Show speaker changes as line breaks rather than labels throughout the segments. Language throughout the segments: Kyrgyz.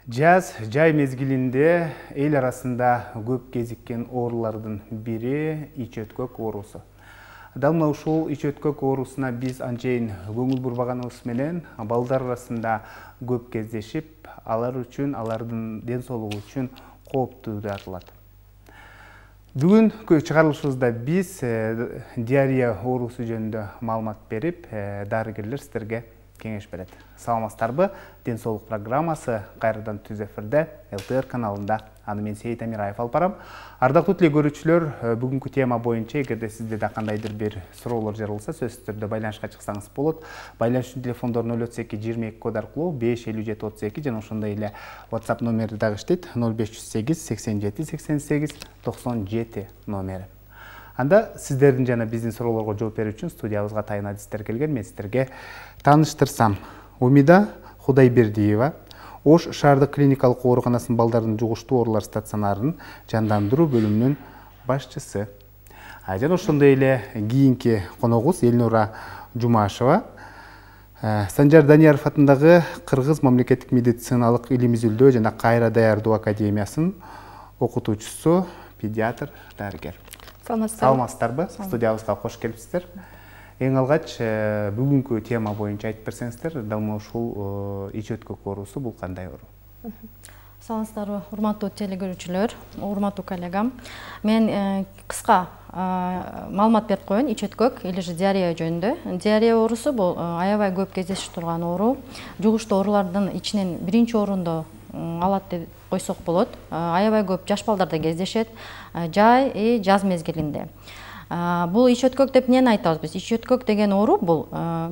Жай мезгилинде эл арасында көп кезиккен оорулардын бири ич өткөк оорусу. Дал мына ушул ич өткөк оорусуна биз анчейин көңүл бурбаганыбыз менен балдар арасында көп кездешип, алар үчүн, алардын ден соолугу үчүн кооптуу деп аталат. Бүгүнкү чыгарылышыбызда биз диарея оорусу жөнүндө маалымат берип, дарыгерлер сиздерге кеңеш берет. Саламатсыздарбы? Ден соолук программасы кайрадан түз эфирде ЛТР каналында. Аны мен Сейит Амираев алып барам. Ардактуу телегөрүүчүлөр, бүгүнкү тема боюнча эгерде сизде да кандайдыр бир суроолор жаралса, сөзсүз түрдө байланышка чыксаңыз болот. Байланыш үчүн телефондор 032 22 код аркылуу 557 32 жана ошондой эле WhatsApp номери дагы иштейт. 0508 87 88 97 номери. Анда сиздердин жана биздин суроолорго жооп берүү үчүн студиябызга тайын адистер келген. Мен сиздерге тааныштырсам. Умида Кудайбердиева Ош шаардык клиникалык ооруканасынын балдардын жугуштуу оорулар стационарынын жандандыруу бөлүмүнүн башчысы. Жана ошондой эле кийинки коногубуз Элнура Жумашева, Санжар Данияров атындагы Кыргыз мамлекеттик медициналык илим изилдөө жана кайра даярдоо академиясынын окутуучусу, педиатр, дарыгер. Саламатсыздарбы? Студиябызга кош келипсиздер. Эң алгач бүгүнкү тема боюнча айтып берсеңиздер, дал ушул ич өткөк оорусу бул кандай оору?
Саламатсыздарбы, урматтуу телегөрүүчүлөр, урматтуу коллегам. Мен кыска маалымат берип коеюн ич өткөк или же диарея жөнүндө. Диарея оорусу бул аябай көп кездешип турган оору. Жугуштуу оорулардын ичинен биринчи орунду алат деп койсок болот. Аябай көп жаш балдарда кездешет, жай жаз мезгилинде. Бул ич өткөк деп эмнени айтабыз биз? Ич өткөк деген оору бул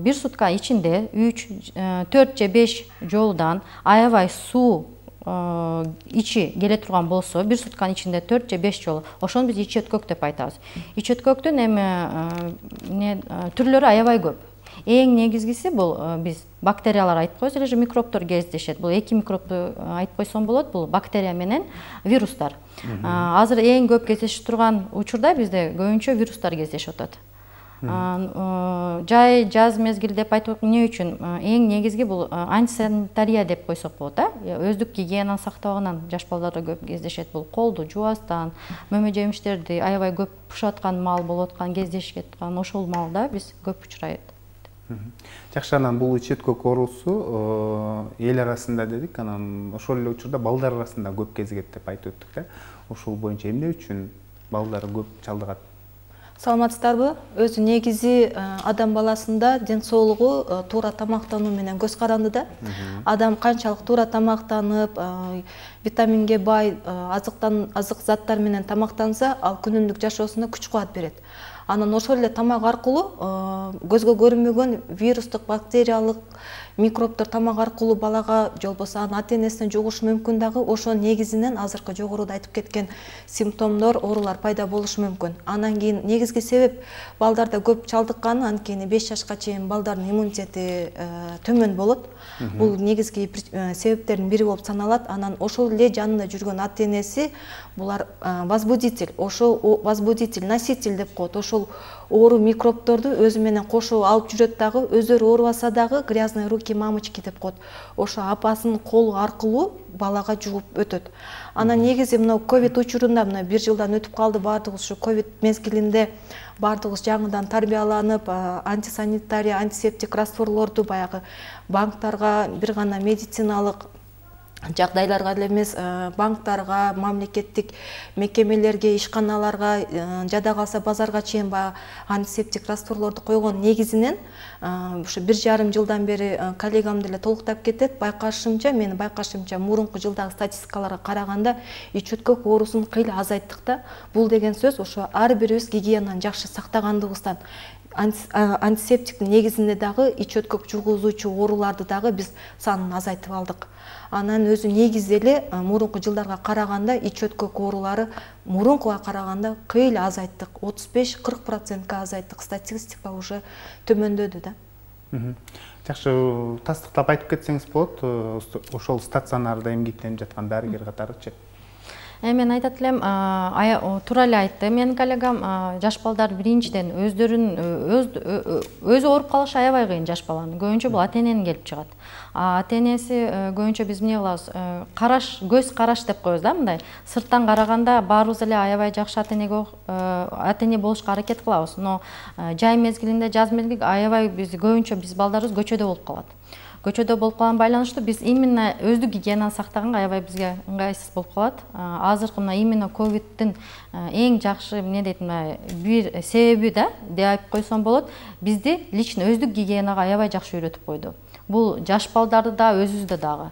бир сутка ичинде 4 же 5 жолудан аябай суу ичи келе турган болсо, бир сутканын ичинде 4 же 5 жолу, ошону биз ич өткөк деп айтабыз. Ич өткөктүн эми түрлөрү аябай көп. Эң негизгиси бул биз бактериялар айтып коебуз, или же микробтор кездешет. Бул эки микробду айтып койсом болот. Бул бактерия менен вирустар. Азыр эң көп кездешип турган учурда бизде көбүнчө вирустар кездешип атат. Жай жаз мезгил деп айтып эмне үчүн? Эң негизги бул антисанитария деп койсок болот, өздүк гигиенаны сактабагандан жаш балдарда көп кездешет. Бул колду жуабастан, мөмө жемиштерди аябай көп бушап аткан маал болуп аткан, кездешип аткан ошол маалда биз көп учурайт.
Жакшы, анан бул ич өткөк оорусу эл арасында дедик, анан ошол эле учурда балдар арасында көп кезигет деп айтып өттүк да. Ошол боюнча эмне үчүн балдар көп чалдыгат?
Саламатсыздарбы? Өзү негизи адам баласында ден соолугу туура тамактануу менен көз карандыда. Адам канчалык туура тамактанып, витаминге бай азык заттар менен тамактанса, ал күнүмдүк жашоосуна күч кубат берет. Анан ошол эле тамак аркылуу көзгө көрүнбөгөн вирустук, бактериялык микробдор тамак аркылуу балага же болбосо анын ата-энесине жугушу мүмкүн дагы. Ошонун негизинен азыркы жогоруда айтып кеткен симптомдор, оорулар пайда болушу мүмкүн. Анан кийин негизги себеп балдарда көп чалдыкканы, анткени 5 жашка чейин балдардын иммунитети төмөн болот. Бул негизги себептердин бири болуп саналат. Анан ошол эле жанында жүргөн ата-энеси булар возбудитель, ошол возбудитель, носитель деп коет. Ошол оору микробдорду өзү менен кошо алып жүрөт дагы, өздөрү оорубаса дагы грязные руки мамочки деп коет. Ошо апасынын колу аркылуу балага жугуп өтөт. Анан негизи мына ковид учурунда, мына 1 жылдан өтүп калды, баардыгыбыз ушу ковид мезгилинде баардыгыбыз жаңыдан тарбияланып, антисанитария, антисептик растворлорду баягы банктарга, бир гана медициналык жагдайларга эле эмес, банктарга, мамлекеттик мекемелерге, ишканаларга, жада калса базарга чейин антисептик растворлорду койгон негизинен ушу 1,5 жылдан бери коллегам деле толуктап кетет. Менин байкашымча, мурунку жылдагы статистикаларга караганда ич өткөк оорусун кыйла азайттык да. Бул деген сөз ошо ар бирибиз гигиенаны жакшы сактагандыгыбыздан, антисептиктин негизинде дагы ич өткөк жургузуучу ооруларды дагы биз санын азайтып алдык. Анан өзү негизи эле мурунку жылдарга караганда ич өткөк оорулары мурункуга караганда кыйла азайттык. 35-40% азайттык. Статистика уже төмөндөдү да.
Жакшы, тастыктап айтып кетсеңиз болот, ошол стационарда эмгектенип жаткан дарыгер катарычы?
Мен айтат элем, туура эле айтты менин коллегам, жаш балдар биринчиден өзү ооруп калышы аябай кыйын жаш баланын. Көбүнчө бул ата-эненин келип чыгат. Ата-энеси көбүнчө биз эмне кылабыз? Көз караш деп коебуз да, мындай. Сырттан караганда баарыбыз эле аябай жакшы ата-эне болушка аракет кылабыз. Но жай мезгилинде, жаз мезгилинде аябай көбүнчө биз балдарыбыз көчөдө болуп калат. Көчөдө болуп калган байланыштуу биз именно өздүк гигиенаны сактаганга аябай бизге ыңгайсыз болуп калат. Азыркы мына именно ковидтин эң жакшы эмне дейт, бир себеби да деп айтып койсом болот, бизди лично өздүк гигиенага аябай жакшы үйрөтүп койду. Бул жаш балдарды да, өзүбүздү дагы,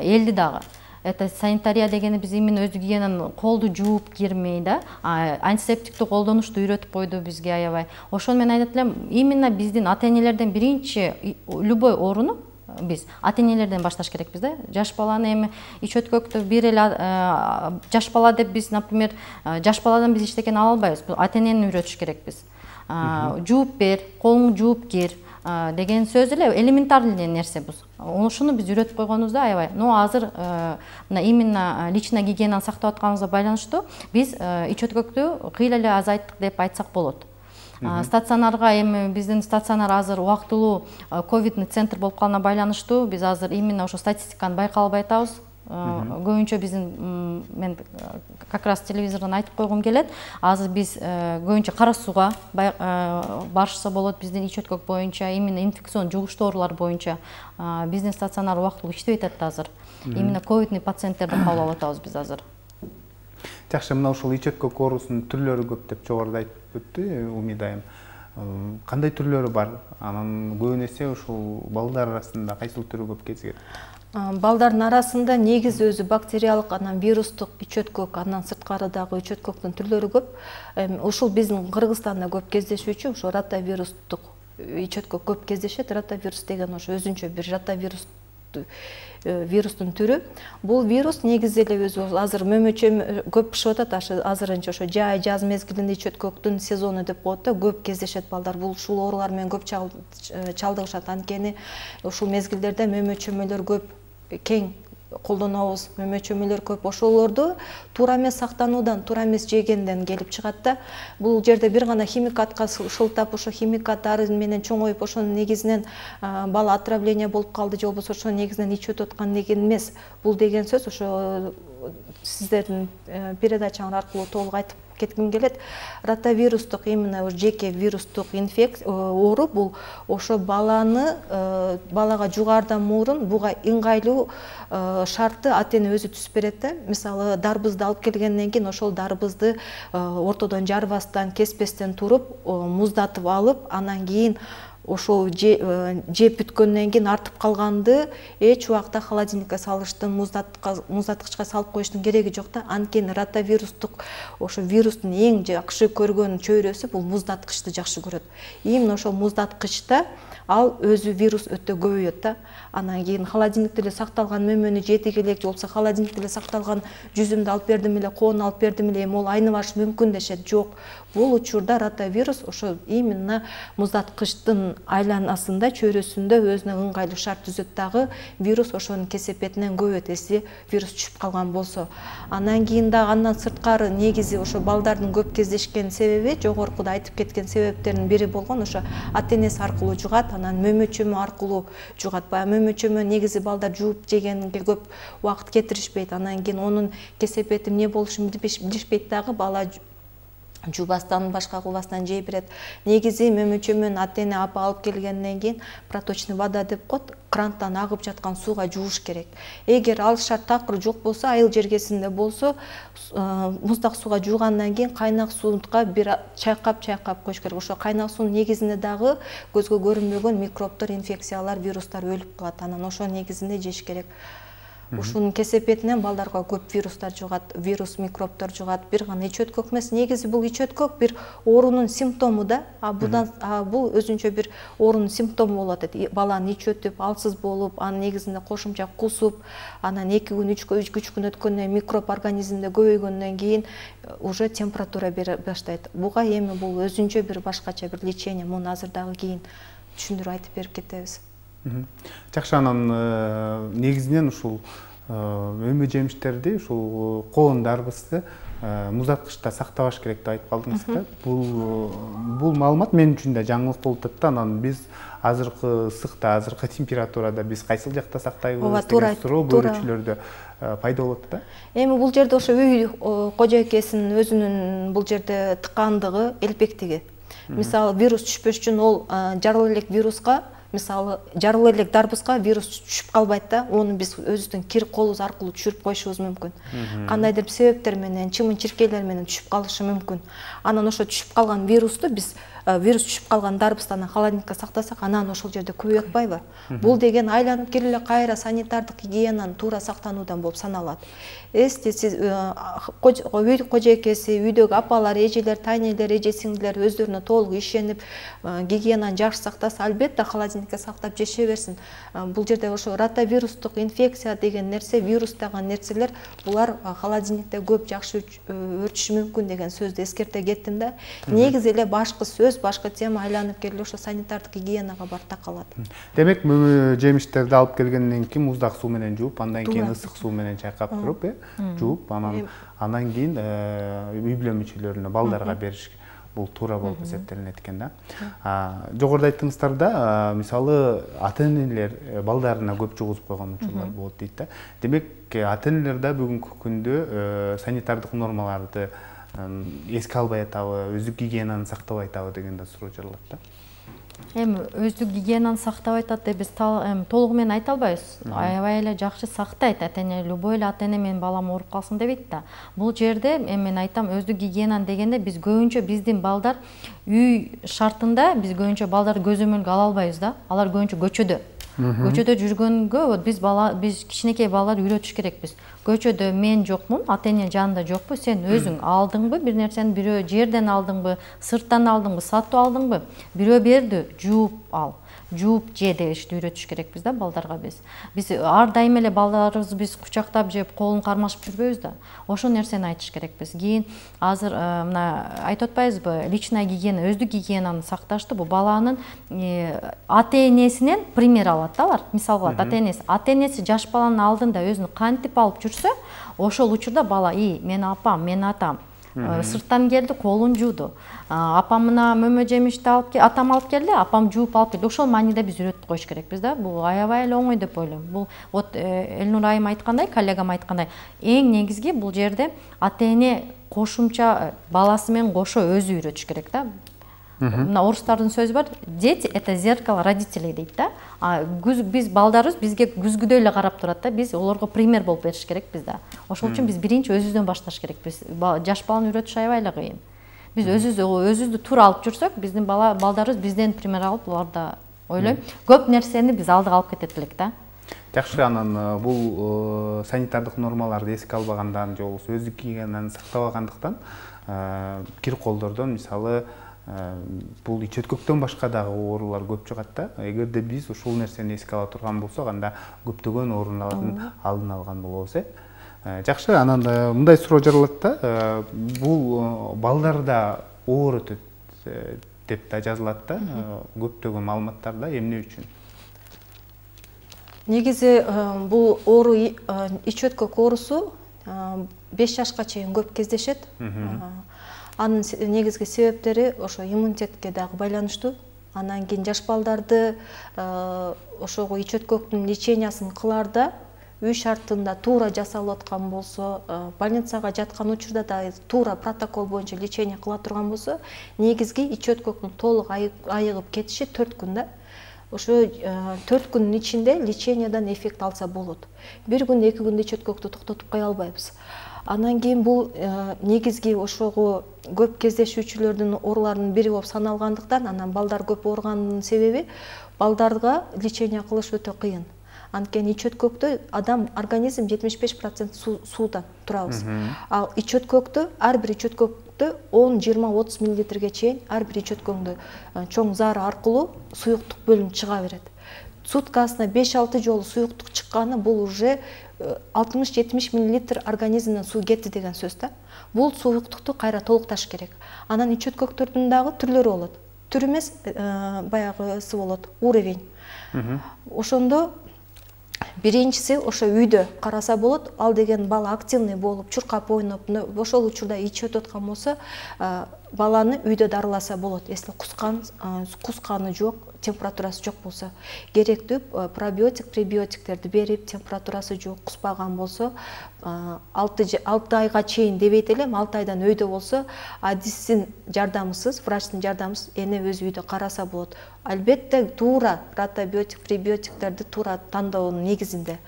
элди дагы. Это санитария дегени биз именно өздүк гигиенаны колду жууп кирмей да, антисептикти колдонушту үйрөтүп койду бизге аябай. Ошону мен айтат элем, именно биздин ата-энелерден биринчи любой ооруну биз ата-энелерден башташ керекпиз да. Жаш баланы эми ич өткөктү бир эле жаш бала деп биз, например, жаш баладан биз эчтекени ала албайбыз. Бул ата-энени үйрөтүш керекпиз. Жууп бер, колуңду жууп кир деген сөз эле элементарный нерсе бул. Ошону биз үйрөтүп койгонубузда аябай. Но азыр мына именно личный гигиенаны сактап атканыбызга байланыштуу биз ич өткөктү кыйла эле азайттык деп айтсак болот. Стационарга эми биздин стационар азыр убактылуу ковидный центр болуп калганына байланыштуу биз азыр именно ошо статистиканы байкап албай атабыз. Көбүнчө биздин, мен как раз телевизордон айтып койгум келет, азыр биз көбүнчө кара сууга барышса болот. Биздин ич өткөк боюнча, именно инфекцион жугуштуу оорулар боюнча биздин стационар убактылуу иштебей атат азыр. Именно ковидный пациенттерди кабыл алып атабыз биз азыр.
Жакшы, мына ушул ич өткөк оорусунун түрлөрү көп деп жогоруда айтып өттү Умида айым. Кандай түрлөрү бар? Анан көбүн эсе ушул балдар арасында кайсыл түрү көп кезигет?
Балдардын арасында негизи өзү бактериялык, анан вирустук ич өткөк, анан сырткарыдагы ич өткөктүн түрлөрү көп. Ушул биздин Кыргызстанда көп кездешүүчү, ошо ротавирустук ич өткөк көп кездешет. Ротавирус деген ошо өзүнчө бир вирустун түрү. Бул вирус негизи эле өзү азыр мөмөчө көп бышып атат, азырынча ошо жаз мезгилинде ич өткөктүн сезону деп коет да, көп кездешет балдар. Бул ушул оорулар менен көп чалдыгышат. Анткени ушул мезгилдерде мөмө-чөмөлөр көп кең колдонобуз, мөмө-чөмөлөр көп. Ошолорду туура эмес сактануудан, туура эмес жегенден келип чыгат да. Бул жерде бир гана химикатка шылтап, ошо химикаттары менен чоңоюп, ошонун негизинен бала отравление болуп калды же болбосо ошонун негизинен ичип өтүп аткан деген эмес. Бул деген сөз ошо сиздердин передачаңар аркылуу толук айтып кетким келет. Ротавирустук именно жеке вирустук оору бул ошо балага жугаардан мурун буга ыңгайлуу шартты ата-эне өзү түзүп берет да. Мисалы, дарбызды алып келгенден кийин ошол дарбызды ортодон жарбастан, кеспестен туруп, муздатып алып, анан кийин ошол жеп бүткөндөн кийин артып калганды эч убакта холодильникке салыштын, муздаткычка салып коюштун кереги жок да. Анткени ротавирустук ошо вирустун эң жакшы көргөн чөйрөсү бул муздаткычты жакшы көрөт. Именно ошол муздаткычта ал өзү вирус өтө көбөйөт да. Анан кийин холодильникте эле сакталган мөмөнү жедик эле же болбосо холодильникте эле сакталган жүзүмдү алып бердим эле, коону алып бердим эле, эми ол айныбаш мүмкүн дешет. Жок. Бул учурда ротавирус ошо именно муздаткычтын айланасында, чөйрөсүндө өзүнө ыңгайлуу шарт түзөт дагы, вирус ошонун кесепетинен көбөйөт, эси вирус түшүп калган болсо. Андан кийин дагы андан сырткары негизи ошо балдардын көп кездешкен себеби, жогоркуда айтып кеткен себептердин бири болгон ошо ата-энеси аркылуу жугат, анан мөмө-чөмө аркылуу жугат. Баягы мөмө-чөмө негизи балдар жууп жегенге көп убакыт кетиришпейт. Анан кийин онун кесепети эмне болушун билишпейт дагы, бала жуубастан, башка кылбастан жей берет. Негизи мөмө-чөмөнү ата-эне алып келгенден кийин проточный вода деп коет, кранттан агып жаткан сууга жууш керек. Эгер ал шарт такыр жок болсо, айыл жергесинде болсо, муздак сууга жуугандан кийин кайнак суунга бир чайкап коюш керек. Ошо кайнак суунун негизинде дагы көзгө көрүнбөгөн микробдор, инфекциялар, вирустар өлүп калат. Анан ошонун негизинде жеш керек. Ушунун кесепетинен балдарга көп вирустар жугат, вирус, микробдор жугат. Бир гана ич өткөк эмес, негизи бул ич өткөк бир оорунун симптому да. Бул өзүнчө бир оорунун симптому болот. Баланын ич өтүп, алсыз болуп, анын негизинде кошумча кусуп, анан 2 күн, 3 күн өткөндөн кийин микроб организмде көбөйгөндөн кийин уже температура бере баштайт. Буга эми бул өзүнчө бир башкача бир лечение. Муну азыр дагы кийин түшүндүрүп айтып берип кетебиз.
Жакшы, анан негизинен ушул өмө жемиштерди ушул коон дарбызды муздаткычта сактабаш керек деп айтып калдыңыз да. Бул маалымат мен үчүн да жаңылык болуп атат да. Анан биз азыркы ысыкта, азыркы температурада биз кайсыл жакта сактайбыз деген суроо көрүүчүлөрдө пайда болот да.
Эми бул жерде ошо үй кожойкесинин өзүнүн бул жерде тыкандыгы, элпектиги. Мисалы вирус түшпөш үчүн ол жарыл элек вируска, мисалы жарыл элек дарбызга вирус түшүп калбайт да. Ону биз өзүбүздүн кир колубуз аркылуу түшүрүп коюшубуз мүмкүн. Кандайдыр бир себептер менен, чымын-чиркейлер менен түшүп калышы мүмкүн. Анан ошо түшүп калган вирусту биз вирус түшүп калган дарбыздан холодильникке сактасак, анан ошол жерде көбөйүп атпайбы? Бул деген айланып келип эле кайра санитардык гигиенанын туура сактануудан болуп саналат. Эсте сиз үй кожойкеси, үйдөгү апалар, эжелер, тайнелер, эже сиңдилер өздөрүнө толук ишенип, гигиенаны жакшы сактаса, албетте холодильникке сактап жеше берсин. Бул жерде ошо ротавирустук инфекция деген нерсе, вирус деген нерселер, булар холодильникте көп жакшы өрчүшү мүмкүн деген сөздү эскерте кеттим да. Негизи эле башкы сөз, башкы тема айланып келип ошо санитардык гигиенага барып такалат. Демек,
жемиштерди алып келгенден кийин муздак суу менен жууп, андан кийин ысык суу менен чайкап туруп, жууп, анан кийин үй бүлө мүчөлөрүнө, балдарга бериш бул туура болуп эсептелинет экен да. Жогоруда айттыңыздар да, мисалы ата-энелер балдарына көп жугузуп койгон учурлар болот дейт да. Демек, ата-энелер да бүгүнкү күндө санитардык нормаларды эске албай атабы, өздүк гигиенаны сактабай атабы деген да суроо жаралат да.
Эми өздүк гигиенаны сактабай атат деп биз толугу менен айта албайбыз. Аябай эле жакшы сактайт ата-эне, любой эле ата-эне менин балам ооруп калсын дебейт да. Бул жерде мен айтам, өздүк гигиенаны дегенде биз көбүнчө биздин балдар үй шартында биз көбүнчө балдарды көзөмөлгө ала албайбыз да. Алар көбүнчө көчөдө. Көчөдө жүргөнгө биз кичинекей балдарды үйрөтүш керекпиз. Көчөдө мен жокмун, ата-эне жанында жокпу, сен өзүң алдыңбы, бир нерсени бирөө жерден алдыңбы, сырттан алдыңбы, сатып алдыңбы, бирөө берди, жууп ал. Жууп же дешти үйрөтүш керекпиз да балдарга биз. Биз ар дайым эле балдарыбызды биз кучактап жеп, колун кармашып жүрбөйбүз да. Ошол нерсени айтыш керекпиз. Кийин азыр мына айтып атпайбызбы, личная гигиена, өздүк гигиенаны сакташты бул баланын ата-энесинен пример алат да алар. Мисал кылат, ата-энеси жаш баланын алдында өзүн кантип алып жүрсө, ошол учурда бала, мен апам, мен атам сырттан келди, колун жууду. Апам мына мөмө жемишти атам алып келди, апам жууп алып келди. Ошол мааниде биз үйрөтүп коюш керекпиз да. Бул аябай эле оңой деп ойлойм. Бул Элнур айым айткандай, коллегам айткандай, эң негизги бул жерде ата-эне кошумча баласы менен кошо өзү үйрөтүш керек да. Мына орустардын сөзү бар, дети это зеркало родителей дейт да. Биз балдарыбыз бизге күзгүдөй эле карап турат да. Биз олорго пример болуп бериш керекпиз да. Ошол үчүн биз биринчи өзүбүздөн башташ керекпиз. Жаш баланы үйрөтүш аябай эле кыйын. Биз өзүбүздү туура алып жүрсөк, биздин балдарыбыз бизден пример алып, булар да ойлойм, көп нерсени биз алдыга алып кетет элек да.
Жакшы, анан бул санитардык нормаларды эске албагандан же болбосо өздүк гигиенаны сактабагандыктан кир колдордон мисалы бул ич өткөктөн башка дагы оорулар көп чыгат да. Эгерде биз ушул нерсени эске ала турган болсок, анда көптөгөн оорулардын алдын алган болобуз. Жакшы, анан мындай суроо жаралат да. Бул балдарда оорутат деп да жазылат да. Көптөгөн маалыматтарда эмне үчүн?
Негизи бул оору ич өткөк оорусу 5 жашка чейин көп кездешет. Анын негизги себептери ошо иммунитетке дагы байланыштуу. Анан кийин жаш балдарды ошого ич өткөктүн лечениясын кылаарда үй шартында туура жасалып аткан болсо, больницага жаткан учурда да туура протокол боюнча лечение кыла турган болсо, негизги ич өткөктүн толук айыгып кетиши 4 күн да. Ошо 4 күндүн ичинде лечениядан эффект алса болот. 1 күн, 2 күндө ич өткөктү токтотуп кое албайбыз. Анан кийин бул негизги ошого көп кездешүүчүлөрдүн ооруларынын бири болуп саналгандыктан, анан балдар көп ооруганын себеби балдарга лечение кылыш өтө кыйын. Анткени ич өткөктө адам организм 75% суудан турабыз. Ал ич өткөктө, ар бир ич өткөктө 10, 20, 30 мл чейин ар бир ич өткөңдө чоң заары аркылуу суюктук бөлүнүп чыга берет. Суткасына 5-6 жолу суюктук чыкканы бул уже 60-70 мл организмден суу кетти деген сөз да. Бул суюктукту кайра толукташ керек. Анан ич өткөктөрдүн дагы түрлөрү болот. Түр эмес, баягысы болот, уровень. Ошондо Биринчиси ошо үйдө караса болот. Ал деген бала активный болуп, чуркап ойноп, ошол учурда ичип өтөткөн болсо, баланы үйдө дарыласа болот. Если кусканы жок, температурасы жок болсо, керектүү пробиотик, пребиотиктерди берип, температурасы жок, куспаган болсо, 6 айга чейин дебейт элем, 6 айдан өйдө болсо, адистин жардамысыз, врачтын жардамысыз эне өз үйдө караса болот. Албетте туура протобиотик, пребиотиктерди туура тандоонун негизинде.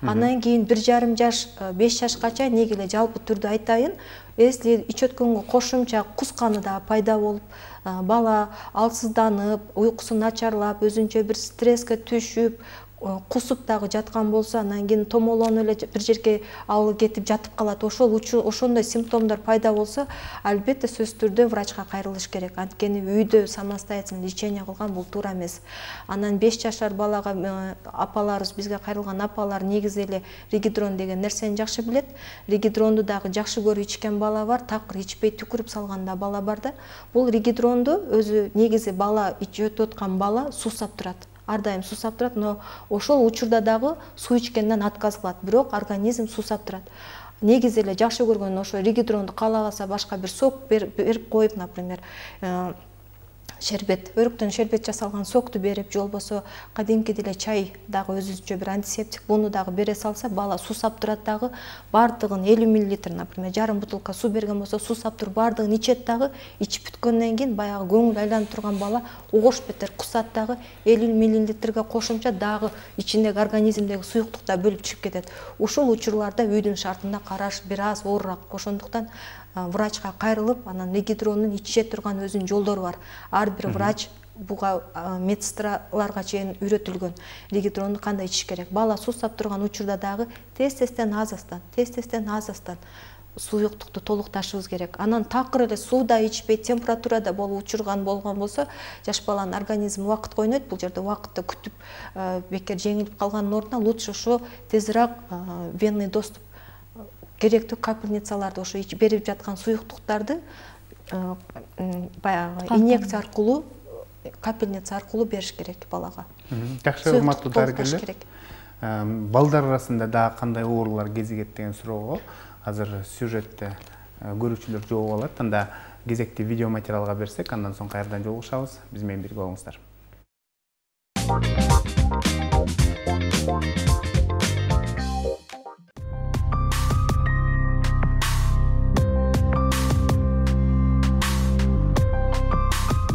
Андан кийин 1,5 жаш, 5 жашкача неге эле жалпы түрдө айтайын, если ич өткөнгө кошумча кусканы да пайда болуп, бала алсызданып, уйкусу начарлап, өзүнчө бир стресске түшүп, кусуп дагы жаткан болсо, анан кийин томолонуп эле бир жерге алып кетип жатып калат. Ошондой симптомдор пайда болсо, албетте сөзсүз түрдө врачка кайрылыш керек. Анткени үйдө самостоятельно лечение кылган бул туура эмес. Анан 5 жашар балага апаларыбыз, бизге кайрылган апалар негизи эле ригидрон деген нерсени жакшы билет. Ригидронду дагы жакшы көрүп ичкен бала бар, такыр ичпей түкүрүп салган да бала бар да. Бул ригидронду өзү негизи бала ичип өткөн бала суусап турат. Ар дайым суусап турат, но ошол учурда дагы суу ичкенден отказ кылат, бирок организм суусап турат. Негизи эле жакшы көргөн ошо ригидронду каалабаса башка бир сок берип коюп, например, шербет, өрүктөн шербет жасалган сокту берип, же болбосо кадимкидей эле чай дагы өзүнчө бир антисептик, буну дагы бере салса, бала суусап турат дагы, бардыгын 50 мл, например, жарым бутылка суу берген болсо, суусап туруп бардыгын ичет дагы, ичип бүткөндөн кийин баягы көңүл айланып турган бала огош бетер кусат дагы, 50 мл кошумча дагы ичиндеги организмдеги суюктук да бөлүп чыгып кетет. Ушул учурларда үйдүн шартында караш бир аз оорураак. Ошондуктан врачка кайрылып, анан ригидронун иче турган өзүнүн жолдору бар. Ар бир врач буга медсестраларга чейин үйрөтүлгөн. Ригидронду кандай ичиш керек. Бала суусап турган учурда дагы тез-тезден аз-аздан суюктукту толукташыбыз керек. Анан такыр эле сууда ичпей, температурада болуп учурган болгон болсо, жаш баланын организми убакыт койнойт. Бул жерде убакытты күтүп, бекер жеңилип калганын ордуна лучше ошо тезирээк венный доступ, керектүү капельницаларды, ошо берип жаткан суюктуктарды баягы инъекция аркылуу, капельница аркылуу бериш керек балага.
Жакшы, урматтуу дарыгерлер. Балдар арасында дагы кандай оорулар кезигет деген суроого азыр сюжетте көрүүчүлөр жооп алат. Анда кезекти видео материалга берсек, андан соң кайрадан жолугушабыз. Биз менен бирге болуңуздар.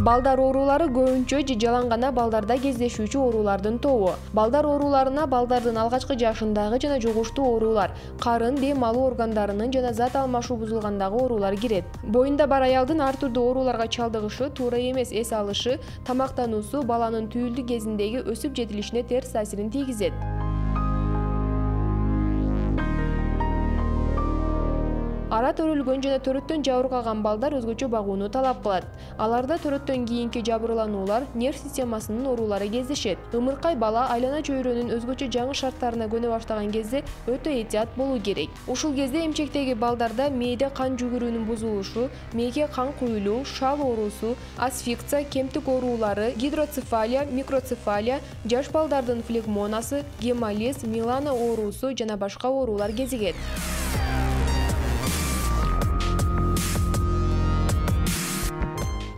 Балдар оорулары көбүнчө же жалаң гана балдарда кездешүүчү оорулардын тобу. Балдар ооруларына балдардын алгачкы жашындагы жана жугуштуу оорулар, карын, дем алуу органдарынын жана зат алмашуу бузулгандагы оорулар кирет. Боюнда бар аялдын ар түрдүү ооруларга чалдыгышы, туура эмес эс алышы, тамактануусу баланын түйүлдү кезиндеги өсүп жетилишине терс таасирин тийгизет. Ара төрөлгөн жана төрөттөн жабыркаган балдар өзгөчө багууну талап кылат. Аларда төрөттөн кийинки жабырлануулар, нерв системасынын оорулары кездешет. Ымыркай бала айлана чөйрөнүн өзгөчө жаңы шарттарына көнө баштаган кезде өтө этият болуу керек. Ушул кезде эмчектеги балдарда мээде кан жүгүрүүнүн бузулушу, мээге кан куюлуу, шал оорусу, асфикция, кемтик оорулары, гидроцефалия, микроцефалия, жаш балдардын флегмонасы, гемолиз, милана оорусу жана башка оорулар кезигет.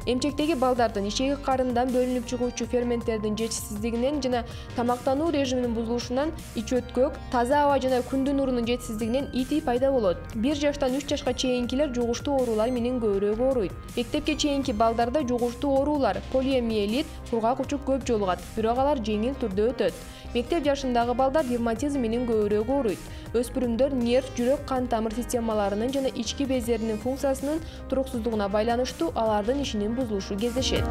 Эмчектеги балдардын ичеги карындан бөлүнүп чыгуучу ферменттердин жетишсиздигинен жана тамактануу режиминин бузулушунан ич өткөк, таза аба жана күндүн нурунун жетишсиздигинен ити пайда болот. 1 жаштан 3 жашка чейинкилер жугуштуу оорулар менен көбүрөөк ооруйт. Мектепке чейинки балдарда жугуштуу оорулар, полиомиелит, кургак учук көп жолугат, бирок алар жеңил түрдө өтөт. Мектеп жашындагы балдар ревматизм менен көбүрөөк ооруйт. Өспүрүмдөр нерв, жүрөк, кан тамыр системаларынын жана ички бездеринин функциясынын туруксуздугуна байланыштуу алардын ишинин бузулушу кездешет.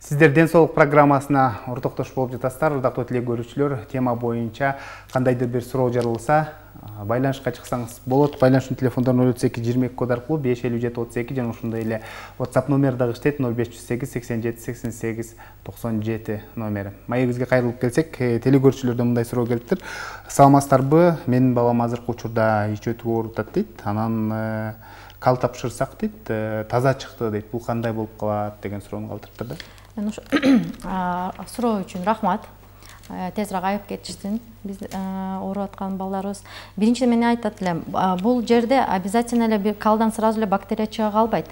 Сиздер ден соолук программасына ортоктош болуп жатасыздар. Ырдактуу теле көрүүчүлөр, тема боюнча кандайдыр бир суроо жаралса, байланышка чыксаңыз болот. Байланыштын телефондорун 08222 код аркылуу 55732 жана ошондой эле WhatsApp номери дагы иштейт 0508 87 88 97 номери. Маегибизге кайрылып келсек, теле көрүүчүлөрдөн мындай суроо келиптир. Саламатсыздарбы? Менин балам азыркы учурда ич өтүп оорутат дейт. Анан кал тапшырсак дейт, таза чыкты дейт. Бул кандай болуп калат деген суроону калтырыптыр да.
Суроо үчүн рахмат. Тезирээк айып кетишсин биз ооруп аткан балдарыбыз. Биринчиден мен айтат элем, бул жерде обязательно эле бир калдан сразу эле бактерия чыга калбайт.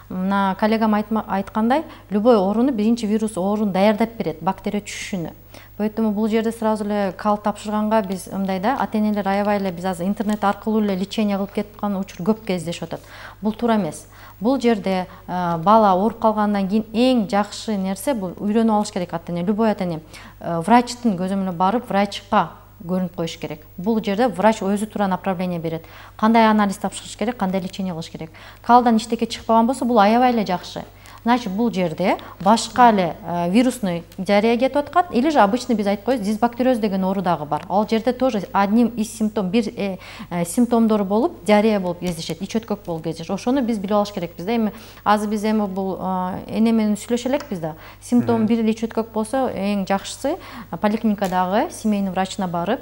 Мына коллегам айткандай, любой ооруну биринчи вирус ооруну даярдап берет, бактерия түшүшүнө. Поэтому бул жерде сразу эле кал тапшырганга биз мындай да, ата-энелер аябай эле биз азыр интернет аркылуу эле лечение кылып кетип аткан учур көп кездешип атат. Бул туура эмес. Бул жерде бала ооруп калгандан кийин эң жакшы нерсе бул үйрөнүп алыш керек ата-эне. Любой ата-эне врачтын көзөмөлүнө барып, врачка көрүнүп коюш керек. Бул жерде врач өзү туура направление берет. Кандай анализ тапшырыш керек, кандай лечение кылыш керек. Калдан иштеке чыкпаган болсо, бул аябай эле жакшы. Значит, бул жерде башка эле вирусный диарея кетип аткан, или же обычный биз айтып коебуз, дисбактериоз деген оору дагы бар. Ал жерде тоже одним из симптомдору болуп, диарея болуп кездешет, ич өткөк болуп кездешет. Ошону биз билип алыш керекпиз да. Эми азыр биз бул эне менен сүйлөшө элекпиз да. Симптом бир эле ич өткөк болсо, эң жакшысы поликлиникадагы семейный врачына барып,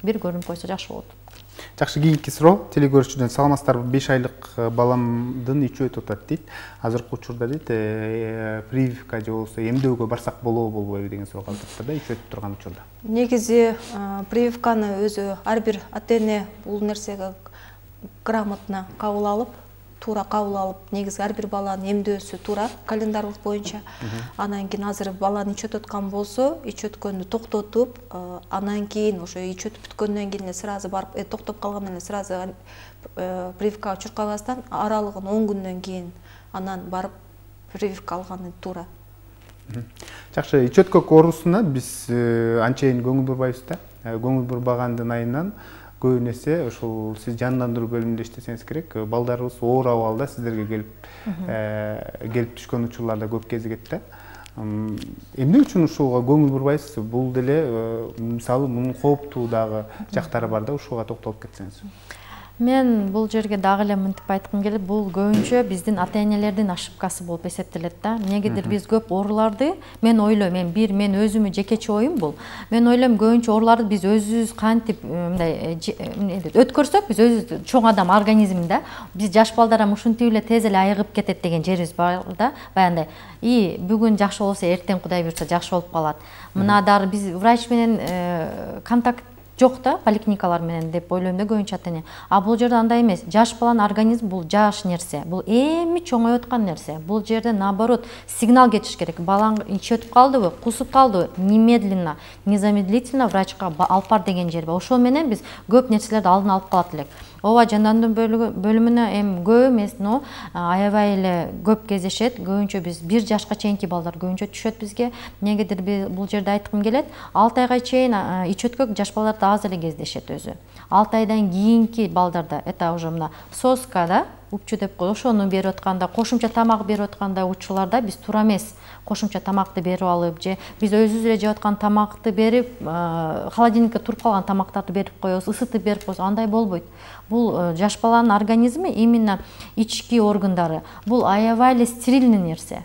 бир көрүнүп койсо жакшы болот.
Жакшы, кийинки суроо теле көрүүчүдөн. Саламатсыздарбы? 5 айлык баламдын ичи өтүп атат дейт. Азыркы учурда дейт, прививка же болбосо эмдөөгө барсак болобу, болбойбу деген суроо калтырыптыр да, ичи өтүп турган учурда.
Негизи прививканы өзү ар бир ата-эне бул нерсеге грамотно кабыл алып, туура кабыл алып, негизи ар бир баланын эмдөөсү туура календарылык боюнча. Анан кийин азыр баланы ич өтүп аткан болсо, ич өткөндү токтотуп, анан кийин ошо ич өтүп бүткөндөн кийин эле сразу барып, токтоп калгандан эле сразу прививкага чуркабастан, аралыгын 10 күндөн кийин анан барып прививка алганы туура.
Жакшы, ич өткөк оорусуна биз анчейин көңүл бурбайбыз да. Көңүл бурбагандын айынан көбүн эсе ошол сиз жандандыруу бөлүмүндө иштесеңиз керек, балдарыбыз оор абалда сиздерге келип түшкөн учурларда көп кезигет да. Эмне үчүн ушуга көңүл бурбайсыз? Бул деле мисалы мунун кооптуу дагы жактары бар да, ушуга токтолуп кетсеңиз.
Мен бул жерге дагы эле мынтип айткым келет, бул көбүнчө биздин ата-энелердин ошибкасы болуп эсептелет да. Эмнегедир биз көп ооруларды, мен ойлойм, мен өзүмө жекече оюм бул. Мен ойлойм, көбүнчө ооруларды биз өзүбүз кантип мындай өткөрсөк, биз өзүбүз чоң адам организминде, биз жаш балдардан ушинтип эле тез эле айыгып кетет деген жерибиз бар да. Баягындай, бүгүн жакшы болсо, эртең Кудай буйрса жакшы болуп калат. Мына дары биз врач менен контакт жок да, поликлиникалар менен деп ойлойм да көбүнчө ата-эне. А бул жерде андай эмес. Жаш баланын организми бул жаш нерсе. Бул эми чоңоюп аткан нерсе. Бул жерде наоборот сигнал кетиш керек. Балаң ич өтүп калдыбы, кусуп калдыбы, немедленно, незамедлительно врачка алып бар деген жер бар. Ошол менен биз көп нерселерди алдын алып калат элек. Ооба, жандандыруу бөлүмүнө эми көп эмес, но аябай эле көп кездешет. Көбүнчө биз 1 жашка чейинки балдар көбүнчө түшөт бизге. Эмнегедир бул жерде айткым келет, 6 айга чейин ич өткөк жаш балдарда аз эле кездешет өзү. 6 айдан кийинки балдарда это уже мына соска да, упчу деп коет, ошону берип атканда, кошумча тамак берип атканда учурларда биз туура эмес кошумча тамакты берип алып, же биз өзүбүз эле жеп аткан тамакты берип, холодильникте туруп калган тамактарды берип коебуз, ысытып берип коебуз, андай болбойт. Бул жаш баланын организми, именно ички органдары, бул аябай эле стерильный нерсе.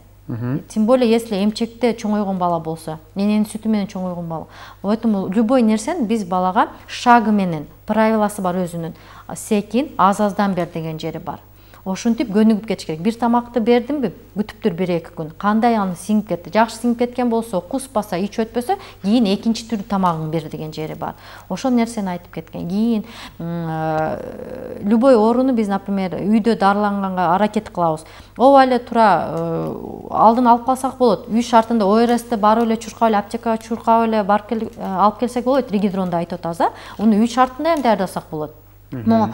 Тем более, если эмчекте чоңойгон бала болсо, эненин сүтү менен чоңойгон бала. Поэтому любой нерсени биз балага шагы менен, правиласы бар өзүнүн. Секин, аз-аздан бер деген жери бар. Ошентип көнүгүп кетиш керек. Бир тамакты бердимби, күтүп тур 1-2 күн. Кандай аны сиңип кетти? Жакшы сиңип кеткен болсо, куспаса, ич өтпөсө, кийин экинчи түрдүү тамагын бер деген жери бар. Ошол нерсени айтып кеткен. Кийин любой ооруну биз, например, үйдө дарыланганга аракет кылабыз. Ооба эле туура алдын алып калсак болот. Үй шартында ОРСти барып эле чуркап эле аптекага чуркап эле алып келсек болот. Ригидронду айтып атабыз да. Уну үй шартында эми даярдасак болот. Но